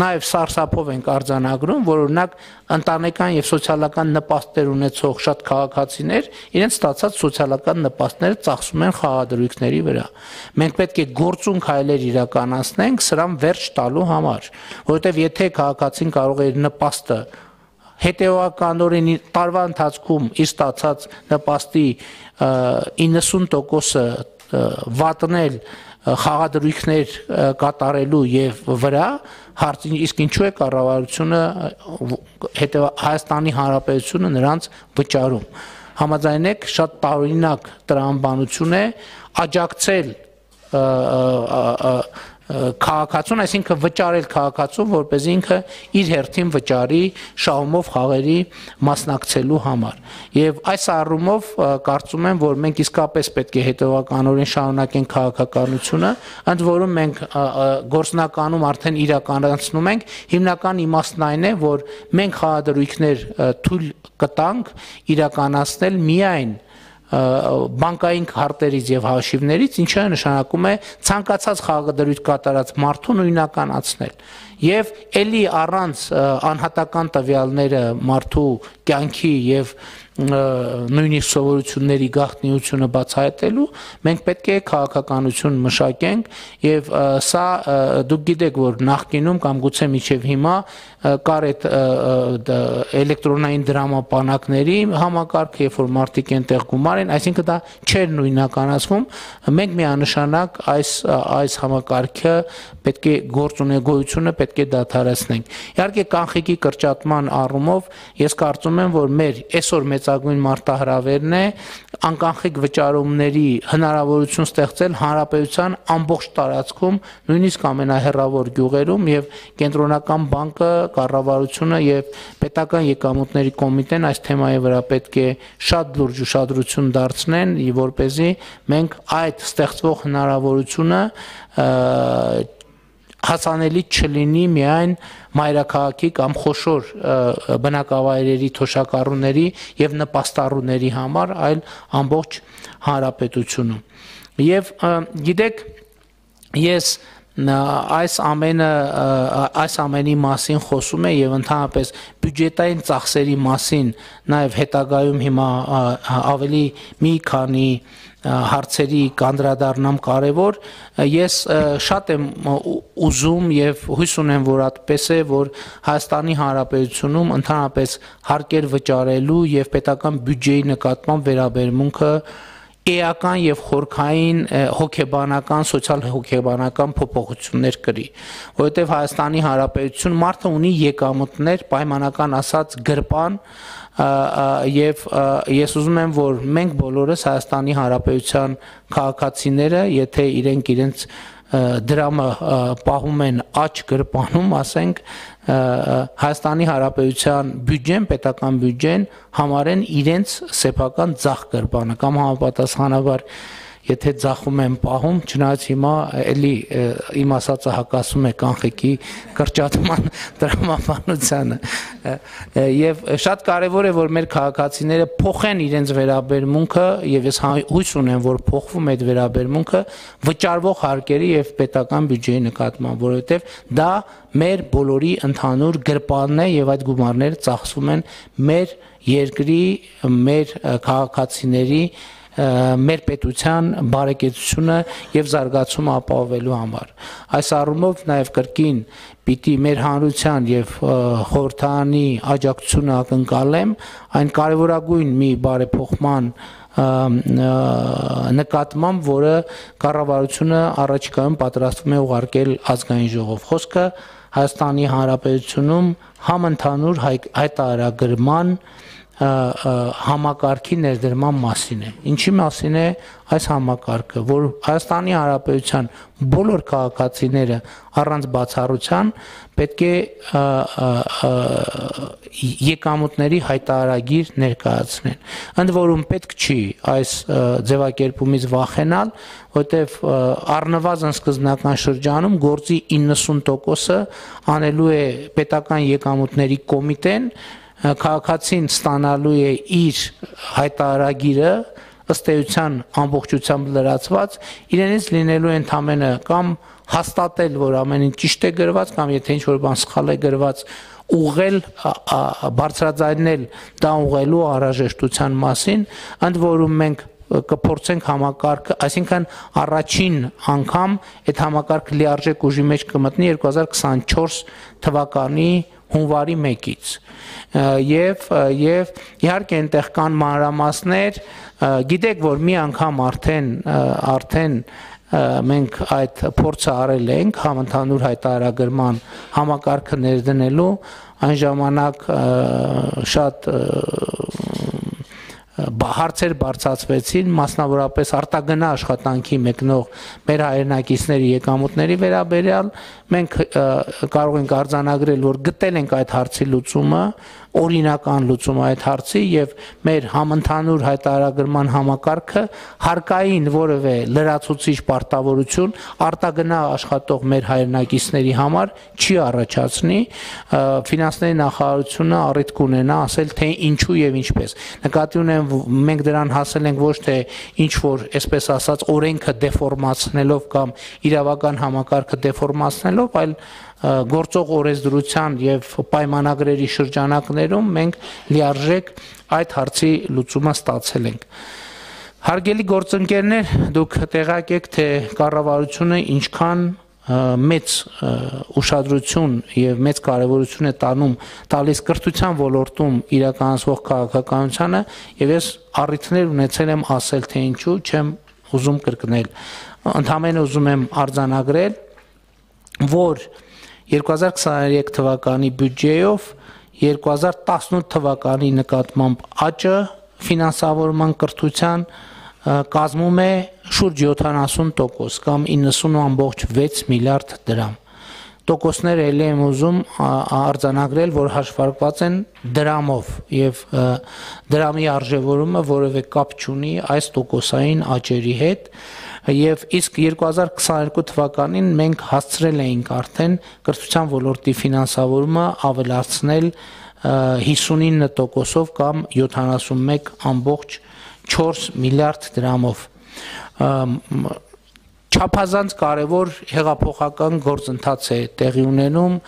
նաև սարսափով ենք արձանագրում, որ օրինակ ընտանեկան եւ սոցիալական նպաստներ ունեցող շատ քաղաքացիներ իրենց ստացած սոցիալական նպաստները ծախսում են խաղադրույքների վրա։ Մենք պետք է գործուն քայլեր իրականացնենք սրան վերջ տալու համար, որովհետեւ եթե քաղաքացին կարող է իր նպաստը հետեւականորեն տարվա ընթացքում իր ստացած նպաստի իննսուն տոկոսը վատնել խաղադրույքներ կատարելու եւ վրա հարցին իսկ ինչու է կառավարությունը հետեւ Հայաստանի Հանրապետությունը նրանց վճարում համաձայն եք շատ տարօրինակ տրամաբանություն է աջակցել քաղաքացուն, այսինքն վճարել քաղաքացուն, որպեսզի ինքը իր հերթին վճարի շահումով խաղերի մասնակցելու համար։ Եվ այս առումով կարծում եմ, որ մենք իսկապես պետք է հետևականորեն շարունակենք քաղաքականությունը, ընդ որում մենք գործնականում արդեն իրականացնում ենք, հիմնական իմաստն այն է, որ մենք խաղադրույքներ թույլ կտանք իրականացնել միայն բանկային քարտերից եւ հաշիվներից, ինչը նշանակում է ցանկացած խաղադրույք կատարած մարդու նույնականացնել եւ ելի առանց անհատական տվյալները մարդու կյանքի եւ նույնիսկ սովորությունների գաղտնիությունը բացահայտելու մենք պետք է քաղաքականություն մշակենք եւ սա դուք գիտեք որ նախկինում կամ գուցե մինչեւ հիմա կար այդ էլեկտրոնային դրամապանակների համակարգ, երբ որ մարդիկ այնտեղ գումար են, այսինքն դա չէր նույնականացվում, մենք միանշանակ այս այս համակարգը պետք է գործունեությունը պետք է դադարեցնենք։ Իհարկե կանխիկի կրճատման առումով ես կարծում եմ, որ մեր այսօր մեծագույն մարտահրավերն է անկանխիկ վճարումների հնարավորություն ստեղծել հանրապետության ամբողջ տարածքում, նույնիսկ ամենահեռավոր գյուղերում եւ կենտրոնական բանկը, կառավարությունը եւ պետական եկամուտների կոմիտեն այս թեմայի վրա պետք է շատ լուրջ ուշադրություն դարձնեն, որպեսզի մենք այդ ստեղծվող հնարավորությունը հասանելի չլինի միայն մայրաքաղաքի կամ խոշոր բնակավայրերի թոշակառուների եւ նպաստառուների համար, այլ ամբողջ հանրապետությունում։ Եվ գիտեք, ես այս ամենը այս ամենի մասին խոսում է եւ ընդհանրապես բյուջետային ծախսերի մասին նաեւ հետագայում հիմա ավելի մի քանի հարցերի կանդրադառնամ կարևոր ես շատ եմ ուզում եւ հույս ունեմ որ այդպես է որ Հայաստանի Հանրապետությունում ընդհանրապես հարկեր վճարելու եւ պետական բյուջեի նկատմամբ վերաբերմունքը էական եւ խորքային հոգեբանական, սոցիալ-հոգեբանական փոփոխություններ կրի, որովհետեւ Հայաստանի Հանրապետություն մարդը ունի եկամուտներ, պայմանական ասած գրպան եւ ես ուզում եմ որ մենք բոլորս Հայաստանի Հանրապետության քաղաքացիները, եթե իրենք իրենց դրամը պահում են աճ գրպանում, ասենք Հայաստանի Հանրապետության բյուջեն, պետական բյուջեն համարեն իրենց սեփական ձախ գրպանը կամ համապատասխանաբար եթե ձախում եմ պահում, չնայած հիմա էլի իմ ասածը հակասում է կանխիկի կրճատման տրամաբանությանը եւ շատ կարեւոր է որ մեր քաղաքացիները փոխեն իրենց վերաբերմունքը եւ ես հույս ունեմ որ փոխվում է այդ վերաբերմունքը վճարվող հարկերի եւ պետական բյուջեի նկատմամբ, որովհետեւ դա մեր բոլորի ընդհանուր գրպանն է եւ այդ գումարները ծախսվում են մեր երկրի, մեր քաղաքացիների մեր պետության բարեկեցությունը եւ զարգացումը ապահովելու համար։ Այս առումով նաեւ կրկին պիտի մեր հանրության եւ խորհրդարանի աջակցությունը ակնկալեմ այն կարեւորագույն մի բարեփոխման նկատմամբ, որը կառավարությունը առաջիկայում պատրաստվում է ուղարկել ազգային ժողով։ Խոսքը Հայաստանի Հանրապետությունում համընդհանուր հայտարարագրման համակարգի ներդրման մասին է։ Ինչի մասին է այս համակարգը, որ Հայաստանի Հանրապետության բոլոր քաղաքացիները առանց բացառության պետք է եկամուտների հայտարարագիր ներկայացնեն։ Ընդ որում պետք չի այս ձևակերպումից վախենալ, որտեղ առնվազն սկզբնական շրջանում գործի իննսուն տոկոսը անելու է պետական եկամուտների կոմիտեն, քաղաքացին ստանալու է իր հայտարարագիրը ըստ էության ամբողջությամբ լրացված, իրենից լինելու է ընդամենը կամ հաստատել, որ ամեն ինչ ճիշտ է գրված, կամ եթե ինչ-որ բան սխալ է գրված, ուղղել, բարձրաձայնել դա ուղղելու անհրաժեշտության մասին, ընդ որում մենք կփորձենք համակարգը, այսինքն առաջին անգամ այդ համակարգը լիարժեք ուժի մեջ կմտնի երկու հազար քսանչորս թվականի հունվարի մեկից եւ եւ իհարկե այնտեղ կան մանրամասներ, գիտեք որ մի անգամ արդեն արդեն մենք այդ փորձը արել ենք համընդհանուր հայտարարագրման համակարգը ներդնելու, այն ժամանակ շատ հարցեր բարձրացվեցին, մասնավորապես արտագնա աշխատանքի մեկնող մեր հայրենակիցների եկամուտների վերաբերյալ, մենք կարող ենք արձանագրել, որ գտել ենք այդ հարցի լուծումը, օրինական լուծում այդ հարցի եւ մեր համընդհանուր հայտարարագրման համակարգը հարկային որևէ լրացուցիչ պարտավորություն արտագնա աշխատող մեր հայրենակիցների համար չի առաջացնի, ֆինանսների նախարարությունը առիթ կունենա ասել թե ինչու եւ ինչպես։ Նկատի ունեմ մենք դրան հասել ենք ոչ թե ինչ որ այսպես ասած օրենքը դեֆորմացնելով կամ իրավական համակարգը դեֆորմացնելով, այլ գործող օրենսդրության եւ պայմանագրերի շրջանակներում մենք լիարժեք այդ հարցի լուծումը ստացել ենք։ Հարգելի գործընկերներ, դուք տեղյակ եք, թե կառավարությունը ինչքան մեծ ուշադրություն եւ մեծ կարեւորություն է տանում տալիս կրթության ոլորտում իրականացվող քաղաքականությանը եւ ես առիթներ ունեցել եմ ասել թե ինչու չեմ ուզում կրկնել։ Ընդհանրապես ուզում եմ արձանագրել, որ երկու հազար քսաներեք թվականի բյուջեով երկու հազար տասնութ թվականի նկատմամբ աճը ֆինանսավորման կրթության կազմում է շուրջ յոթանասուն տոկոս կամ իննսուն ամբողջ վեց միլիարդ դրամ։ Տոկոսները ելի եմ ուզում արձանագրել, որ հաշվարկված են դրամով եւ դրամի արժեվորումը որևէ կապ չունի այս տոկոսային աճերի հետ եւ իսկ երկու հազար քսաներկու թվականին մենք հասցրել էինք արդեն կրթության ոլորտի ֆինանսավորումը ավելացնել հիսունինը տոկոսով կամ յոթանասունմեկ ամբողջ չորս միլիարդ դրամով։ Չափազանց կարևոր հեղափոխական գործընթաց է տեղի ունենում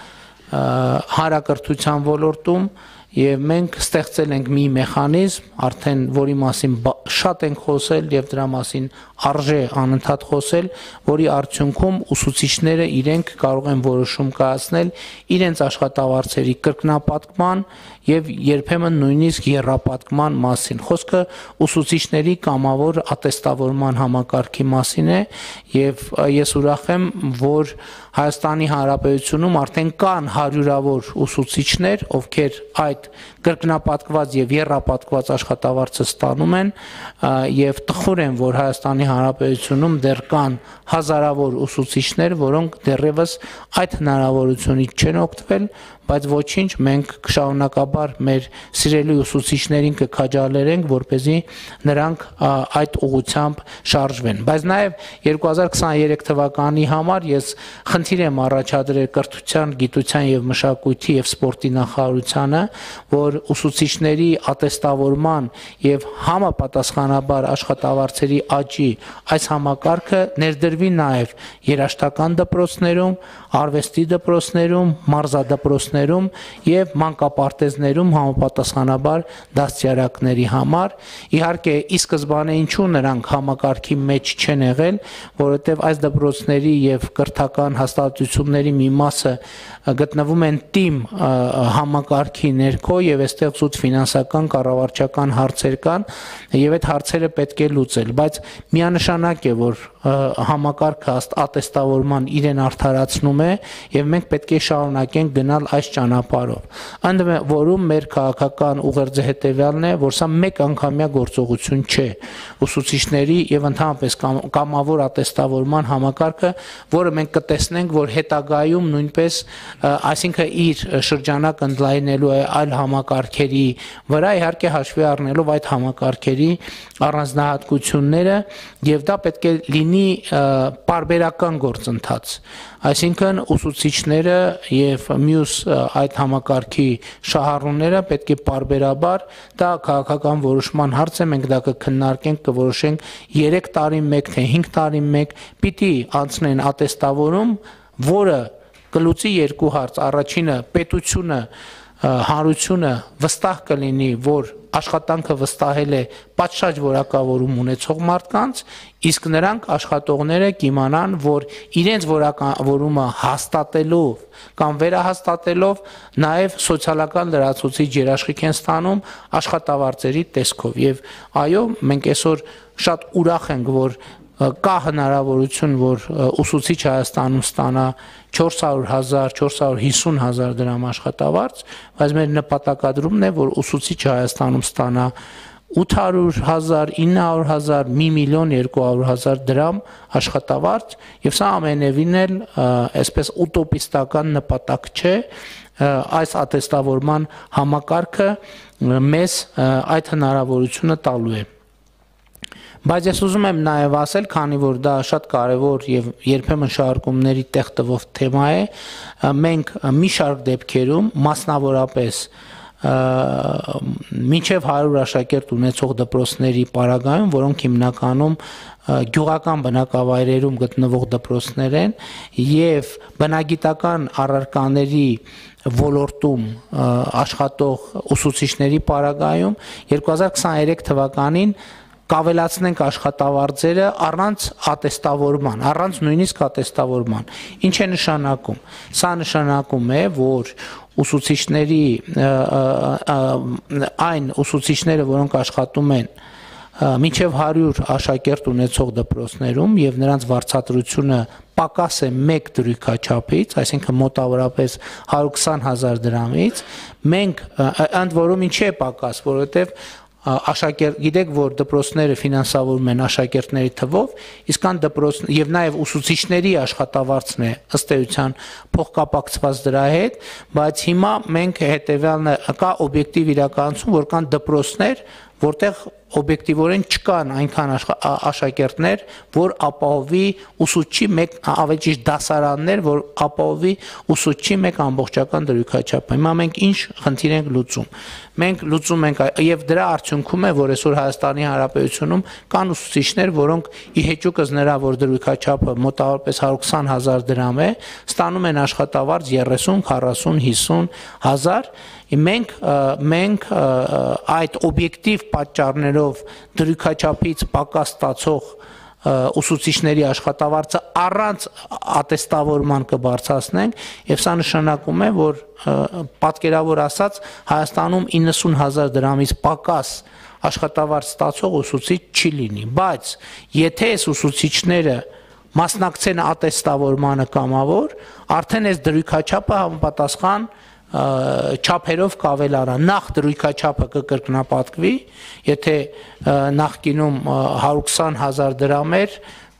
հանրակրթության ոլորտում եւ մենք ստեղծել ենք մի մեխանիզմ, արդեն որի մասին շատ ենք խոսել եւ դրա մասին արժե անընդհատ խոսել, որի արդյունքում ուսուցիչները իրենք կարող են որոշում կայացնել իրենց աշխատավարձերի կրկնապատկման եւ երբեմն նույնիսկ եռապատկման մասին։ Խոսքը ուսուցիչների կամավոր ատեստավորման համակարգի մասին է եւ ես ուրախ եմ, որ Հայաստանի Հանրապետությունում արդեն կան հարյուրավոր ուսուցիչներ, ովքեր այդ կրկնապատկված եւ եռապատկված աշխատավարձը ստանում են եւ տխուր եմ, որ Հայաստանի Հանրապետությունում դեռ կան հազարավոր ուսուցիչներ, որոնք դեռևս այդ հնարավորությունից չեն օգտվել, բայց ոչինչ, մենք շարունակաբար մեր սիրելի ուսուցիչներին կքաջալերենք, որպեսզի նրանք այդ ուղղությամբ շարժվեն։ Բայց նաև երկու հազար քսաներեք թվականի համար ես խնդիր եմ առաջադրել կրթության, գիտության եւ մշակույթի եւ սպորտի նախարարությանը, որ ուսուցիչների ատեստավորման եւ համապատասխանաբար աշխատավարձերի աճի այս համակարգը ներդրվի նաև երաժշտական դպրոցներում, արվեստի դպրոցներում, մարզադպրոցներում եւ մանկապարտեզներում համապատասխանաբար դաստիարակների համար։ Իհարկե, ի սկզբանե ինչու նրանք համակարգի մեջ չեն եղել, որովհետեւ այս դպրոցների եւ կրթական հաստատությունների մի մասը գտնվում են թիմ համակարգի ներքո եւ այստեղ զուտ ֆինանսական կառավարչական հարցեր կան եւ այդ հարցերը պետք է լուծել, բայց միանշանակ է, որ համակարգը ատեստավորման իրեն արդարացնում է եւ մենք պետք է շարունակենք գնալ այս ճանապարհով։ Ընդ որում մեր քաղաքական ուղերձը հետեւյալն է, որ սա մեկ անգամյա գործողություն չէ։ Ուսուցիչների եւ ընդհանրապես կամավոր ատեստավորման համակարգը, որը մենք կտեսնենք, որ հետագայում նույնպես, այսինքն իր շրջանակ ընդլայնելու է այլ համակարգերի վրա, իհարկե հաշվի առնելով այդ համակարգերի առանձնահատկությունները, եւ դա պետք է լինի պարբերական գործընթաց, այսինքն ուսուցիչները եւ մյուս այդ համակարգի շահառուները պետք է պարբերաբար, դա քաղաքական որոշման հարց է, մենք դա կքննարկենք, կորոշենք երեք տարի մեկ թե հինգ տարի մեկ պիտի անցնեն ատեստավորում, որը կլուծի երկու հարց, առաջինը պետությունը հանրությունը վստահ կլինի, որ աշխատանքը վստահել է պատշաճ որակավորում ունեցող մարդկանց, իսկ նրանք աշխատողները կիմանան, որ իրենց որակավորումը հաստատելով կամ վերահաստատելով նաև սոցիալական լրացուցիչ երաշխիք են ստանում աշխատավարձերի տեսքով։ Եվ այո, մենք այսօր շատ ուրախ ենք, որ կա հնարավորություն, որ ուսուցիչ Հայաստանում ստանա չորս հարյուր հազար, չորս հարյուր հիսուն հազար դրամ աշխատավարձ, բայց մեր նպատակադրումն է, որ ուսուցիչը Հայաստանում ստանա ութ հարյուր հազար, ինը հարյուր հազար, մի միլիոն երկու հարյուր հազար դրամ աշխատավարձ, եւ սա ամենևին էլ այսպես ուտոպիստական նպատակ չէ, այս ատեստավորման համակարգը մեզ այդ հնարավորությունը տալու է։ Բայց ես ուզում եմ նաև ասել, քանի որ դա շատ կարևոր եւ երբեմն շարժումների տեղ տվող թեմա է, մենք մի շարք դեպքերում մասնավորապես մինչև հարյուր աշակերտ ունեցող դպրոցների պարագայում, որոնք հիմնականում գյուղական բնակավայրերում գտնվող դպրոցներ են եւ բնագիտական առարկաների ոլորտում աշխատող ուսուցիչների պարագայում երկու հազար քսաներեք թվականին կավելացնենք աշխատավարձերը առանց ատեստավորման, առանց նույնիսկ ատեստավորման։ Ինչ է նշանակում։ Սա նշանակում է, որ ուսուցիչների այն ուսուցիչները, որոնք աշխատում են մինչև հարյուր աշակերտ ունեցող դպրոցներում եւ նրանց վարձատրությունը պակաս է մեկ դրույքաչափից, այսինքն մոտավորապես հարյուր քսան հազար դրամից, մենք ընդ որում ինչի է պակաս, որովհետեւ աշակերտ գիտեք, որ դպրոցները ֆինանսավորվում են աշակերտների թվով, իսկ կան դպրոց եւ նաեւ ուսուցիչների աշխատավարձն է ըստ էության փոխկապակցված դրա հետ, բայց հիմա մենք հետեւյալն կա օբյեկտիվ իրականություն, որ կան դպրոցներ, որտեղ օբյեկտիվորեն չկան այնքան աշակերտներ, որ ապահովի ուսուցչի մեկ ավելի ճիշտ դասարաններ, որ ապահովի ուսուցչի մեկ ամբողջական դրույքաչափ։ Հիմա մենք ինչ խնդիր ենք լուծում։ Մենք լուծում ենք եւ դրա արդյունքում է, որ այսօր Հայաստանի Հանրապետությունում կան ուսուցիչներ, որոնք ի հեճուկս նրա, որ դրույքաչափը մոտավորապես հարյուր քսան հազար դրամ է, ստանում են աշխատավարձ երեսուն, քառասուն, հիսուն հազար։ Մենք մենք այդ օբյեկտիվ պատճառներով դրույքաչափից պակաս ստացող ուսուցիչների աշխատավարձը առանց ատեստավորման կբարձրացնենք եւ սա նշանակում է, որ պատկերավոր ասած Հայաստանում իննսուն հազար դրամից պակաս աշխատավարձ ստացող ուսուցիչ չի լինի, բայց եթե այս ուսուցիչները մասնակցեն ատեստավորմանը կամավոր, արդեն այս դրույքաչափը համապատասխան չափերով կավելանա, նախ դրույքաչափը կկրկնապատկվի, եթե նախկինում հարյուր քսան հազար դրամ էր,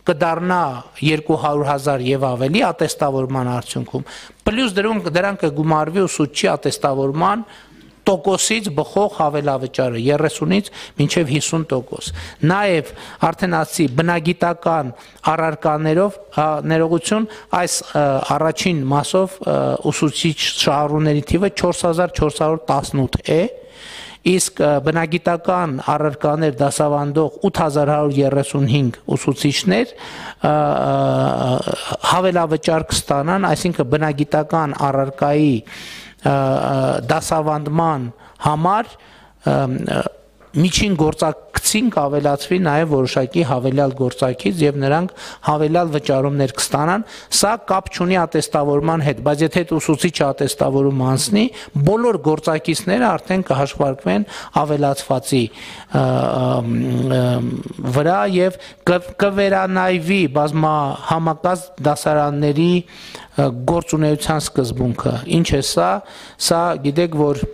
կդառնա երկու հարյուր հազար եւ ավելի ատեստավորման արդյունքում, պլյուս դրանք դրանք կգումարվի ուսուցչի ատեստավորման տոկոսից բխող հավելավճարը երեսունից մինչև հիսուն տոկոս։ Նաև արդեն ասի բնագիտական առարկաներով ներողություն այս առաջին մասով ուսուցիչ շահառուների թիվը չորս հազար չորս հարյուր տասնութ է, իսկ բնագիտական առարկաներ դասավանդող ութ հազար հարյուր երեսունհինգ ուսուցիչներ հավելավճար կստանան, այսինքն բնագիտական առարկայի դասավանդման համար միջին գործակցին կավելացվի նաև որոշակի հավելյալ գործակից եւ նրանք հավելյալ վճարումներ կստանան, սա կապ չունի ատեստավորման հետ, բայց եթե ուսուցիչը ատեստավորում անցնի, բոլոր գործակիցները արդեն կհաշվարկվեն ավելացվածի վրա եւ կվերանայվի բազմահամակազմ դասարանների գործունեության սկզբունքը։ Ինչ է սա, սա գիտեք, որ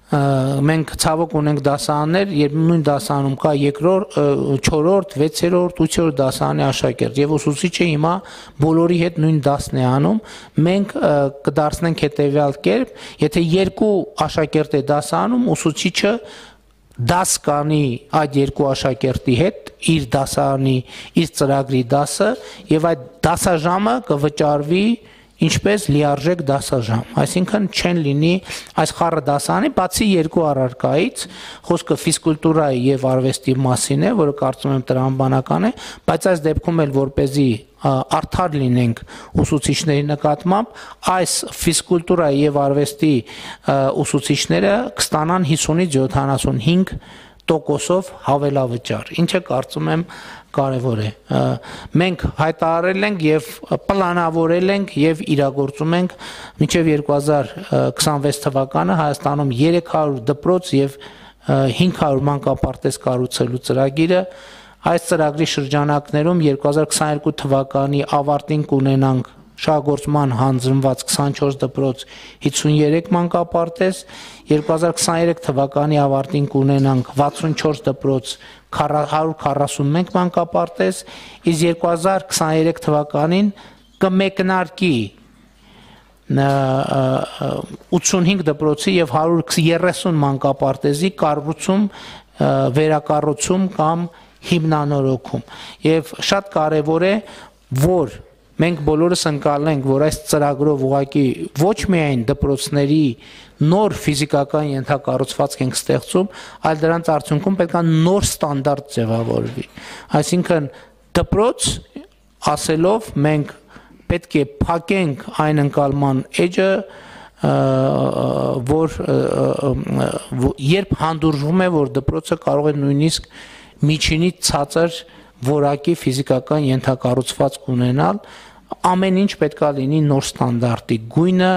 մենք ցավոք ունենք դասարաններ, երբ նույն դասարանում կա երկրորդ, չորրորդ, վեցերորդ, ութերորդ դասարանի աշակերտ եւ ուսուցիչը հիմա բոլորի հետ նույն դասն է անում, մենք կդարձնենք հետեւյալ կերպ, եթե երկու աշակերտ է դասարանում, ուսուցիչը դաս կանի այդ երկու աշակերտի հետ իր դասարանի, իր ծրագրի դասը եւ այդ դասաժամը կվճարվի ինչպես լիարժեք դասաժամ, այսինքն չեն լինի այս խառը դասարանի, բացի երկու առարկայից, խոսքը ֆիզկուլտուրայի եւ արվեստի մասին է, որը կարծում եմ տրամաբանական է, բայց այս դեպքում էլ որպեսզի արդար լինենք ուսուցիչների նկատմամբ, այս ֆիզկուլտուրայի եւ արվեստի ուսուցիչները կստանան հիսունից յոթանասունհինգ տոկոսով հավելավճար, ինչը կարծում եմ կարևոր է։ Մենք հայտարարել ենք եւ պլանավորել ենք եւ իրագործում ենք մինչեւ երկու հազար քսանվեց թվականը Հայաստանում երեք հարյուր դպրոց եւ հինգ հարյուր մանկապարտեզ կառուցելու ծրագիրը։ Այս ծրագրի շրջանակներում երկու հազար քսաներկու թվականի ավարտին կունենանք շահագործման հանձնված քսանչորս դպրոց հիսուներեք մանկապարտեզ, երկու հազար քսաներեք թվականի ավարտին կունենանք վաթսունչորս դպրոց հարյուր քառասունմեկ մանկապարտեզ, իսկ երկու հազար քսաներեք թվականին կմեկնարկի ութսունհինգ դպրոցի եւ հարյուր երեսուն մանկապարտեզի կառուցում, վերակառուցում կամ հիմնանորոգում։ Եվ շատ կարևոր է, որ մենք բոլորս ընկալենք, որ այս ծրագրով ուղղակի ոչ միայն դպրոցների նոր ֆիզիկական ենթակառուցվածք ենք ստեղծում, այլ դրանց արդյունքում պետք է նոր ստանդարտ ձևավորվի։ Այսինքն դպրոց ասելով մենք պետք է փակենք այն ընկալման էջը, որ երբ հանդուրժվում է, որ դպրոցը կարող է նույնիսկ միջինից ցածր որակի ֆիզիկական ենթակառուցվածք ունենալ, ամեն ինչ պետք է լինի նոր ստանդարտի, գույնը,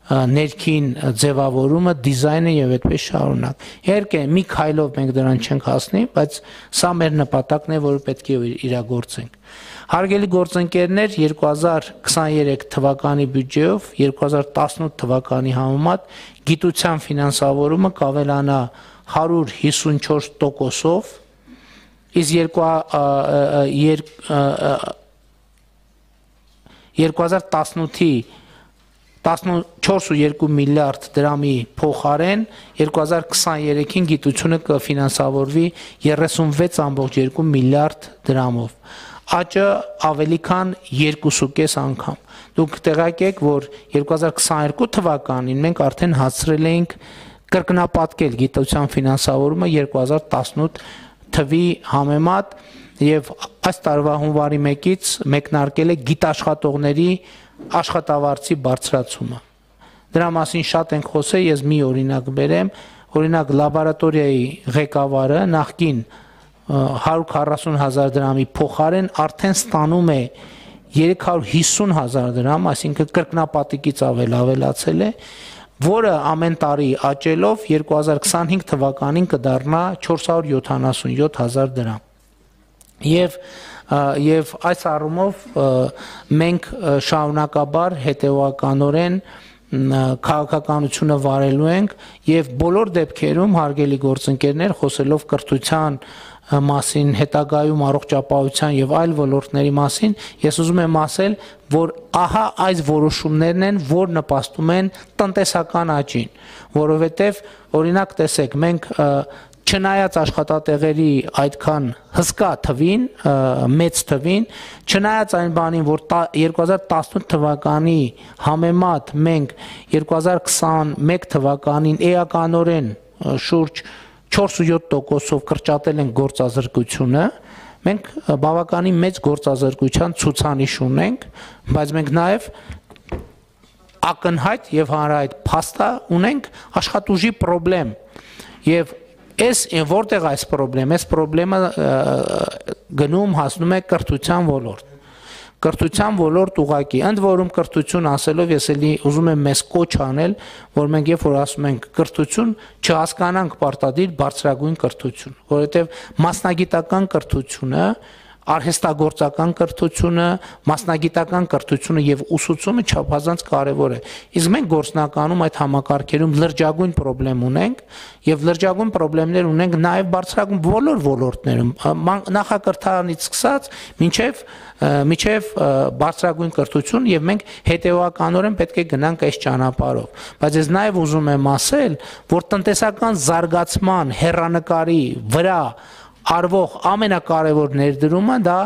ներքին ձևավորումը, դիզայնը եւ այդպես շարունակ։ Իհարկե, մի քայլով մենք դրան չենք հասնի, բայց սա մեր նպատակն է, որը պետք է իրագործենք։ Հարգելի գործընկերներ, երկու հազար քսաներեք թվականի բյուջեով երկու հազար տասնութ թվականի համեմատ գիտության ֆինանսավորումը կավելանա հարյուր հիսունչորս տոկոսով, իսկ երկու հազար տասնութի տասնչորս ու երկու միլիարդ դրամի փոխարեն երկու հազար քսաներեքին գիտությունը կֆինանսավորվի երեսունվեց ամբողջ երկու միլիարդ դրամով, աճը ավելի քան երկուսուկես անգամ։ Դուք տեղյակ եք, որ երկու հազար քսաներկու թվականին մենք արդեն հասցրել էինք կրկնապատկել գիտության ֆինանսավորումը երկու հազար տասնութ թվի համեմատ եւ այս տարվա հունվարի մեկից մեկնարկել է գիտաշխատողների աշխատավարձի բարձրացումը։ Դրա մասին շատ ենք խոսել, ես մի օրինակ բերեմ, օրինակ լաբորատորիայի ղեկավարը նախկին հարյուր քառասուն հազար դրամի փոխարեն արդեն ստանում է երեք հարյուր հիսուն հազար դրամ, այսինքն կրկնապատիկից ավել ավելացել է, որը ամեն տարի աճելով երկու հազար քսանհինգ թվականին կդառնա չորս հարյուր յոթանասունյոթ հազար դրամ։ Եվ եւ այս առումով մենք շարունակաբար հետեւականորեն քաղաքականությունը վարելու ենք եւ բոլոր դեպքերում հարգելի գործընկերներ խոսելով կրթության մասին, հետագայում առողջապահության եւ այլ ոլորտների մասին, ես ուզում եմ ասել, որ ահա այս որոշումներն են, որ նպաստում են տնտեսական աճին, որովհետեւ օրինակ տեսեք, մենք չնայած աշխատատեղերի այդքան հսկա թվին, մեծ թվին, չնայած այն բանին, որ երկու հազար տասնութ թվականի համեմատ մենք երկու հազար քսաներկու թվականին էականորեն շուրջ չորսուհյոթ տոկոսով կրճատել ենք գործազրկությունը, մենք բավականին մեծ գործազրկության ցուցանիշ ունենք, բայց մենք նաև ակնհայտ եւ հանրահայտ փաստա ունենք աշխատուժի խնդրեմ եւ Այս որտեղ այս խնդրեմ, այս խնդրեմը գնում հասնում է կրթության ոլորտ։ Կրթության ոլորտ ուղղակի, ընդ որում կրթություն ասելով ես էլի ուզում եմ մեզ կոչ անել, որ մենք երբ որ ասում ենք կրթություն, չհասկանանք պարտադիր բարձրագույն կրթություն, որովհետև մասնագիտական կրթությունը արհեստագործական կրթությունը, մասնագիտական կրթությունը եւ ուսուցումը չափազանց կարեւոր է։ Իսկ մենք գործնականում այդ համակարգերում լրջագույն խնդրեմ ունենք եւ լրջագույն խնդիրներ ունենք նաեւ բարձրագույն բոլոր ոլորտներում, նախակրթարանից սկսած մինչեւ միջև բարձրագույն կրթություն եւ մենք հետեւականորեն պետք է գնանք այս ճանապարհով։ Բայց ես նաեւ ուզում եմ ասել, որ տնտեսական զարգացման հեռանկարի վրա արվող ամենակարևոր ներդրումը դա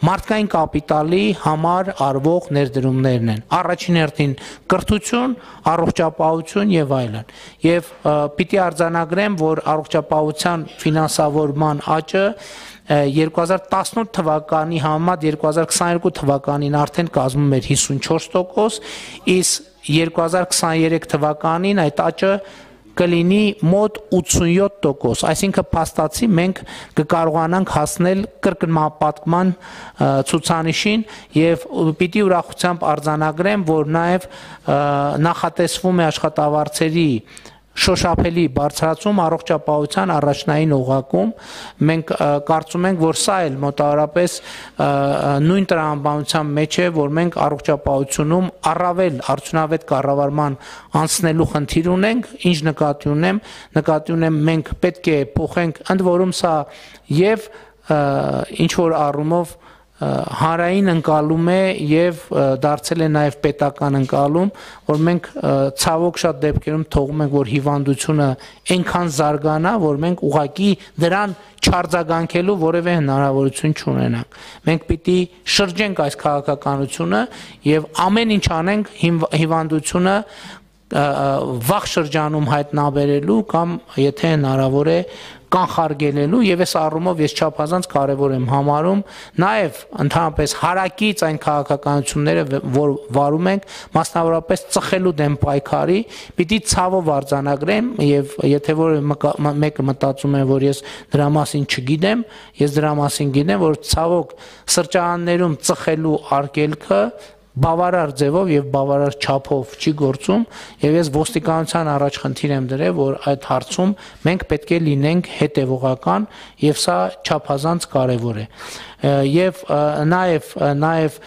մարդկային կապիտալի համար արվող ներդրումներն են։ Առաջին հերթին կրթություն, առողջապահություն եւ այլն։ Եվ պիտի արձանագրեմ, որ առողջապահության ֆինանսավորման աճը երկու հազար տասնութ թվականի համեմատ երկու հազար քսաներկու թվականին արդեն կազմում էր հիսունչորս տոկոս, իսկ երկու հազար քսաներեք թվականին այդ աճը կլինի մոտ ութսունյոթ տոկոս, այսինքն փաստացի մենք կկարողանանք հասնել կրկնապատկման ցուցանիշին եւ պիտի ուրախությամբ արձանագրեմ, որ նաեւ նախատեսվում է աշխատավարձերի շոշափելի բարձրացում առողջապահության առաջնային օղակում, մենք կարծում ենք, որ սա էլ մոտավորապես նույն տրամաբանության մեջ է, որ մենք առողջապահությունում առավել արդյունավետ կառավարման անցնելու խնդիր ունենք, ինչ նկատի ունեմ, նկատի ունեմ մենք պետք է փոխենք, ընդ որում սա եւ ինչ որ առումով հանրային ընկալում է եւ դարձել է նաեւ պետական ընկալում, որ մենք ցավոք շատ դեպքերում թողում ենք, որ հիվանդությունը այնքան զարգանա, որ մենք ուղակի դրան չարձագանքելու որևէ հնարավորություն չունենանք։ Մենք պիտի շրջենք այս քաղաքականությունը եւ ամեն ինչ անենք հիվանդությունը վաղ շրջանում հայտնաբերելու կամ եթե հնարավոր է կանխարգելելու եւ այս առումով ես չափազանց կարեւոր եմ համարում նաեւ ընդհանրապես հարակից այն քաղաքականությունները որ վարում ենք մասնավորապես ծխելու դեմ պայքարի պիտի ցավով արձանագրեմ եւ եթե որ մեկը մտածում է որ ես դրա մասին չգիտեմ ես դրա մասին գիտեմ որ ցավոք սրճարաններում ծխելու արգելքը բավարար ձևով եւ բավարար չափով չի գործում եւ ես ոստիկանության առաջ խնդիր եմ դրել որ այդ հարցում մենք պետք է լինենք հետեւողական եւ սա չափազանց կարեւոր է եւ նաեւ նաեւ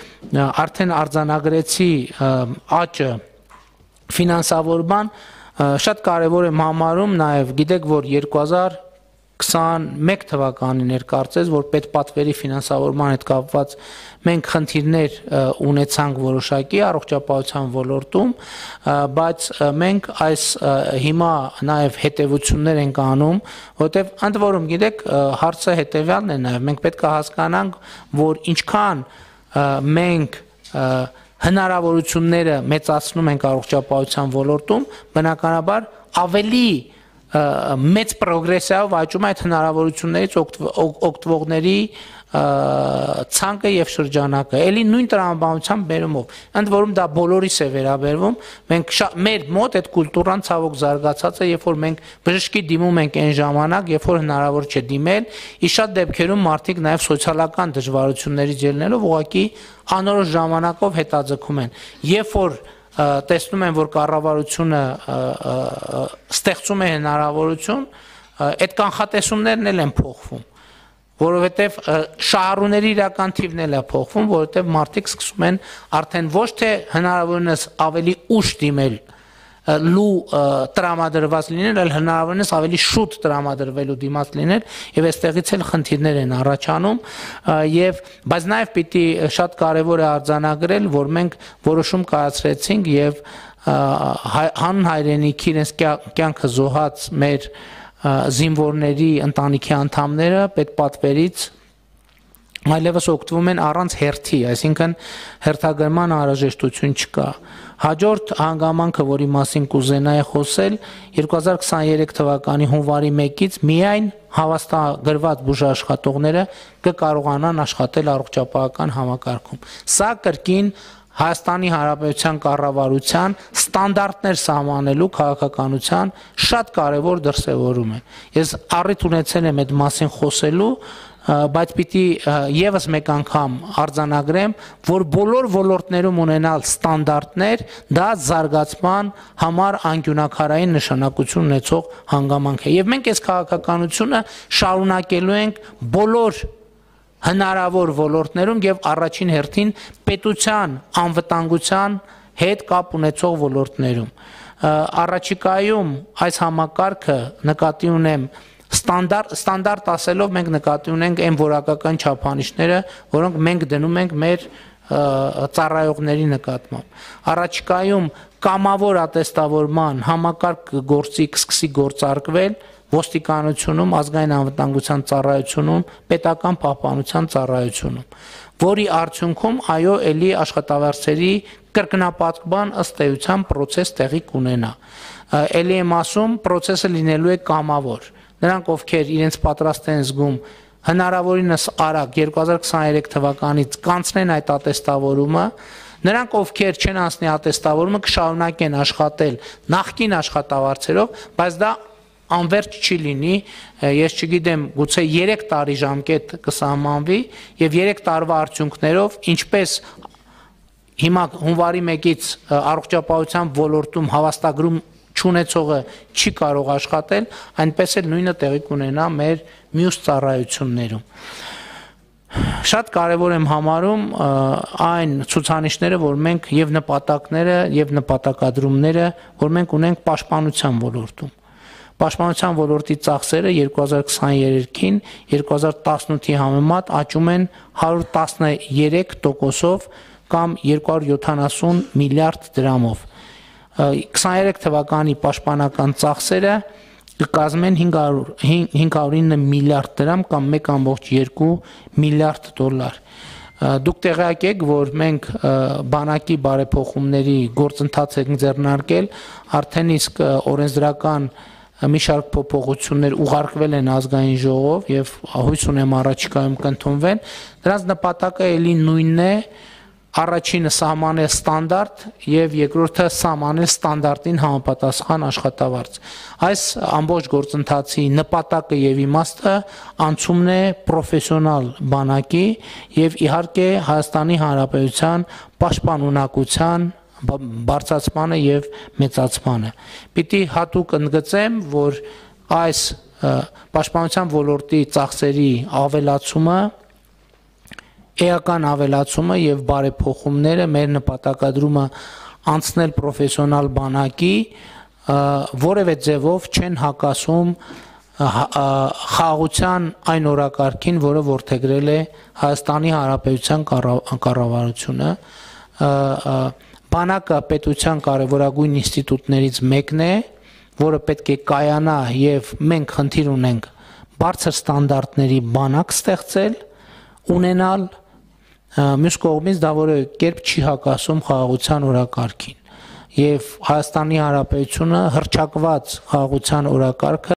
արդեն արձանագրեցի աճը ֆինանսավորման շատ կարեւոր եմ համարում նաեւ գիտեք որ երկու հազար քսաներկու թվականին էր կարծես որ պետպատվերի ֆինանսավորման հետ կապված մենք խնդիրներ ունեցանք որոշակի առողջապահության ոլորտում բայց մենք այս հիմա նաև հետևություններ ենք անում որտեվ ընդ որում գիտեք հարցը հետևյալն է նաև մենք պետք է հասկանանք որ ինչքան մենք հնարավորությունները մեծացնում ենք առողջապահության ոլորտում բնականաբար ավելի մեծ պրոգրեսիայով աճում այդ հնարավորություններից օգտվողների ցանկը եւ շրջանակը էլի նույն տրամաբանության բերումով ընդ որում դա բոլորիս է վերաբերվում մենք մեր մոտ այդ կուլտուրան ցավոք զարգացած է երբ որ մենք բժշկի դիմում ենք այն ժամանակ երբ որ հնարավոր չէ դիմել ի շատ դեպքերում մարդիկ նաեւ սոցիալական դժվարություններից ելնելով ուղղակի անորոշ ժամանակով հետաձգում են երբ որ տեսնում են որ կառավարությունը ստեղծում է հնարավորություն այդ կանխատեսումներն էլ են փոխվում որովհետև շահառուների իրական թիվն էլ է փոխվում որովհետև մարդիկ սկսում են արդեն ոչ թե հնարավորինս ավելի ուշ դիմել լու տրամադրված լինել, այլ հնարավորինս ավելի շուտ տրամադրվելու դիմաց լինել, եւ այստեղից էլ խնդիրներ են առաջանում, եւ բայց նաեւ պիտի շատ կարեւոր է արձանագրել, որ մենք որոշում կայացրեցինք եւ հանհայրենիքի իրենց կյանքը զոհած մեր զինվորների ընտանիքի անդամները պետպատվերից այլևս օգտվում են առանց հերթի, այսինքն հերթագրման անհրաժեշտություն չկա։ Հաջորդ հանգամանքը, որի մասին կուզենայի խոսել, երկու հազար քսաներեք թվականի հունվարի մեկից միայն հավաստագրված բուժաշխատողները կկարողանան աշխատել առողջապահական համակարգում։ Սա կրկին Հայաստանի Հանրապետության կառավարության ստանդարտներ սահմանելու քաղաքականության շատ կարևոր դրսևորում է։ Ես առիթ ունեցել եմ այդ մասին խոսելու, բայց պիտի եւս մեկ անգամ արձանագրեմ, որ բոլոր ոլորտներում ունենալ ստանդարտներ դա զարգացման համար անկյունակարային նշանակություն ունեցող հանգամանք է։ Եվ մենք այս քաղաքականությունը շարունակելու ենք բոլոր հնարավոր ոլորտներում եւ առաջին հերթին պետության անվտանգության հետ կապ ունեցող ոլորտներում։ Առաջիկայում այս համակարգը նկատի ունեմ ստանդարտ ստանդարտ ասելով մենք նկատի ունենք այն որակական չափանիշները, որոնք մենք դնում ենք մեր ծառայողների նկատմամբ։ Առաջիկայում կամավոր ատեստավորման համակարգ գործի կսկսի գործարկվել ոստիկանությունում, ազգային անվտանգության ծառայությունում, պետական պահպանության ծառայությունում, որի արդյունքում այո էլի աշխատավարձերի կրկնապատկման ըստ էության process տեղի կունենա։ Էլի եմ ասում, process-ը լինելու է կամավոր։ Նրանք, ովքեր իրենց պատրաստ են զգում հնարավորինս արագ երկու հազար քսաներեք թվականից կանցնեն այդ ատեստավորումը, նրանք, ովքեր չեն անցնի ատեստավորումը, կշարունակեն աշխատել նախկին աշխատավարձերով, բայց դա անվերջ չի լինի, ես չգիտեմ, գուցե երեք տարի ժամկետ կսահմանվի եւ երեք տարվա արդյունքներով, ինչպես հիմա հունվարի մեկից առողջապահության ոլորտում հավաստագրում չունեցողը չի կարող աշխատել, այնպես էլ նույնը տեղի կունենա մեր մյուս ծառայություններում։ Շատ կարևոր եմ համարում այն ցուցանիշները, որ մենք եւ նպատակները եւ նպատակադրումները, որ մենք ունենք պաշտպանության ոլորտում։ Պաշտպանության ոլորտի ծախսերը երկու հազար քսաներեքին երկու հազար տասնութի համեմատ աճում են հարյուր տասներեք տոկոսով կամ երկու հարյուր յոթանասուն միլիարդ դրամով։ քսաներեք թվականի պաշտպանական ծախսերը կկազմեն հինգ հարյուր ինը միլիարդ դրամ կամ մեկ կόμկոմ երկու միլիարդ դոլար։ Դուք տեղյակ եք, որ մենք բանակի բարեփոխումների գործընթաց ենք ձեռնարկել, արդեն իսկ օրենսդրական մի շարք փոփոխություններ ուղարկվել են ազգային ժողով եւ հույս ունեմ առաջիկայում կընդունվեն։ Դրանց նպատակը էլի նույնն է, առաջինը սահմանել ստանդարտ եւ երկրորդը սահմանել ստանդարտին համապատասխան աշխատավարձ։ Այս ամբողջ գործընթացի նպատակը եւ իմաստը անցումն է պրոֆեսիոնալ բանակի եւ իհարկե Հայաստանի Հանրապետության պաշտպանունակության բարձրացմանը եւ մեծացմանը։ Պիտի հատուկ ընդգծեմ, որ այս պաշտպանության ոլորտի ծախսերի ավելացումը, էական ավելացումը եւ բարեփոխումները մեր նպատակադրումը անցնել պրոֆեսիոնալ բանակի որևէ ձևով չեն հակասում խաղաղության այն օրակարգին, որը որդեգրել է Հայաստանի Հանրապետության կառավարությունը։ Բանակը պետության կարևորագույն ինստիտուտներից մեկն է, որը պետք է կայանա եւ մենք խնդիր ունենք բարձր ստանդարտների բանակ ստեղծել, ունենալ, մյուս կողմից դա որևէ կերպ չի հակասում խաղաղության օրակարգին։ Եվ Հայաստանի Հանրապետությունը հռչակված խաղաղության օրակարգը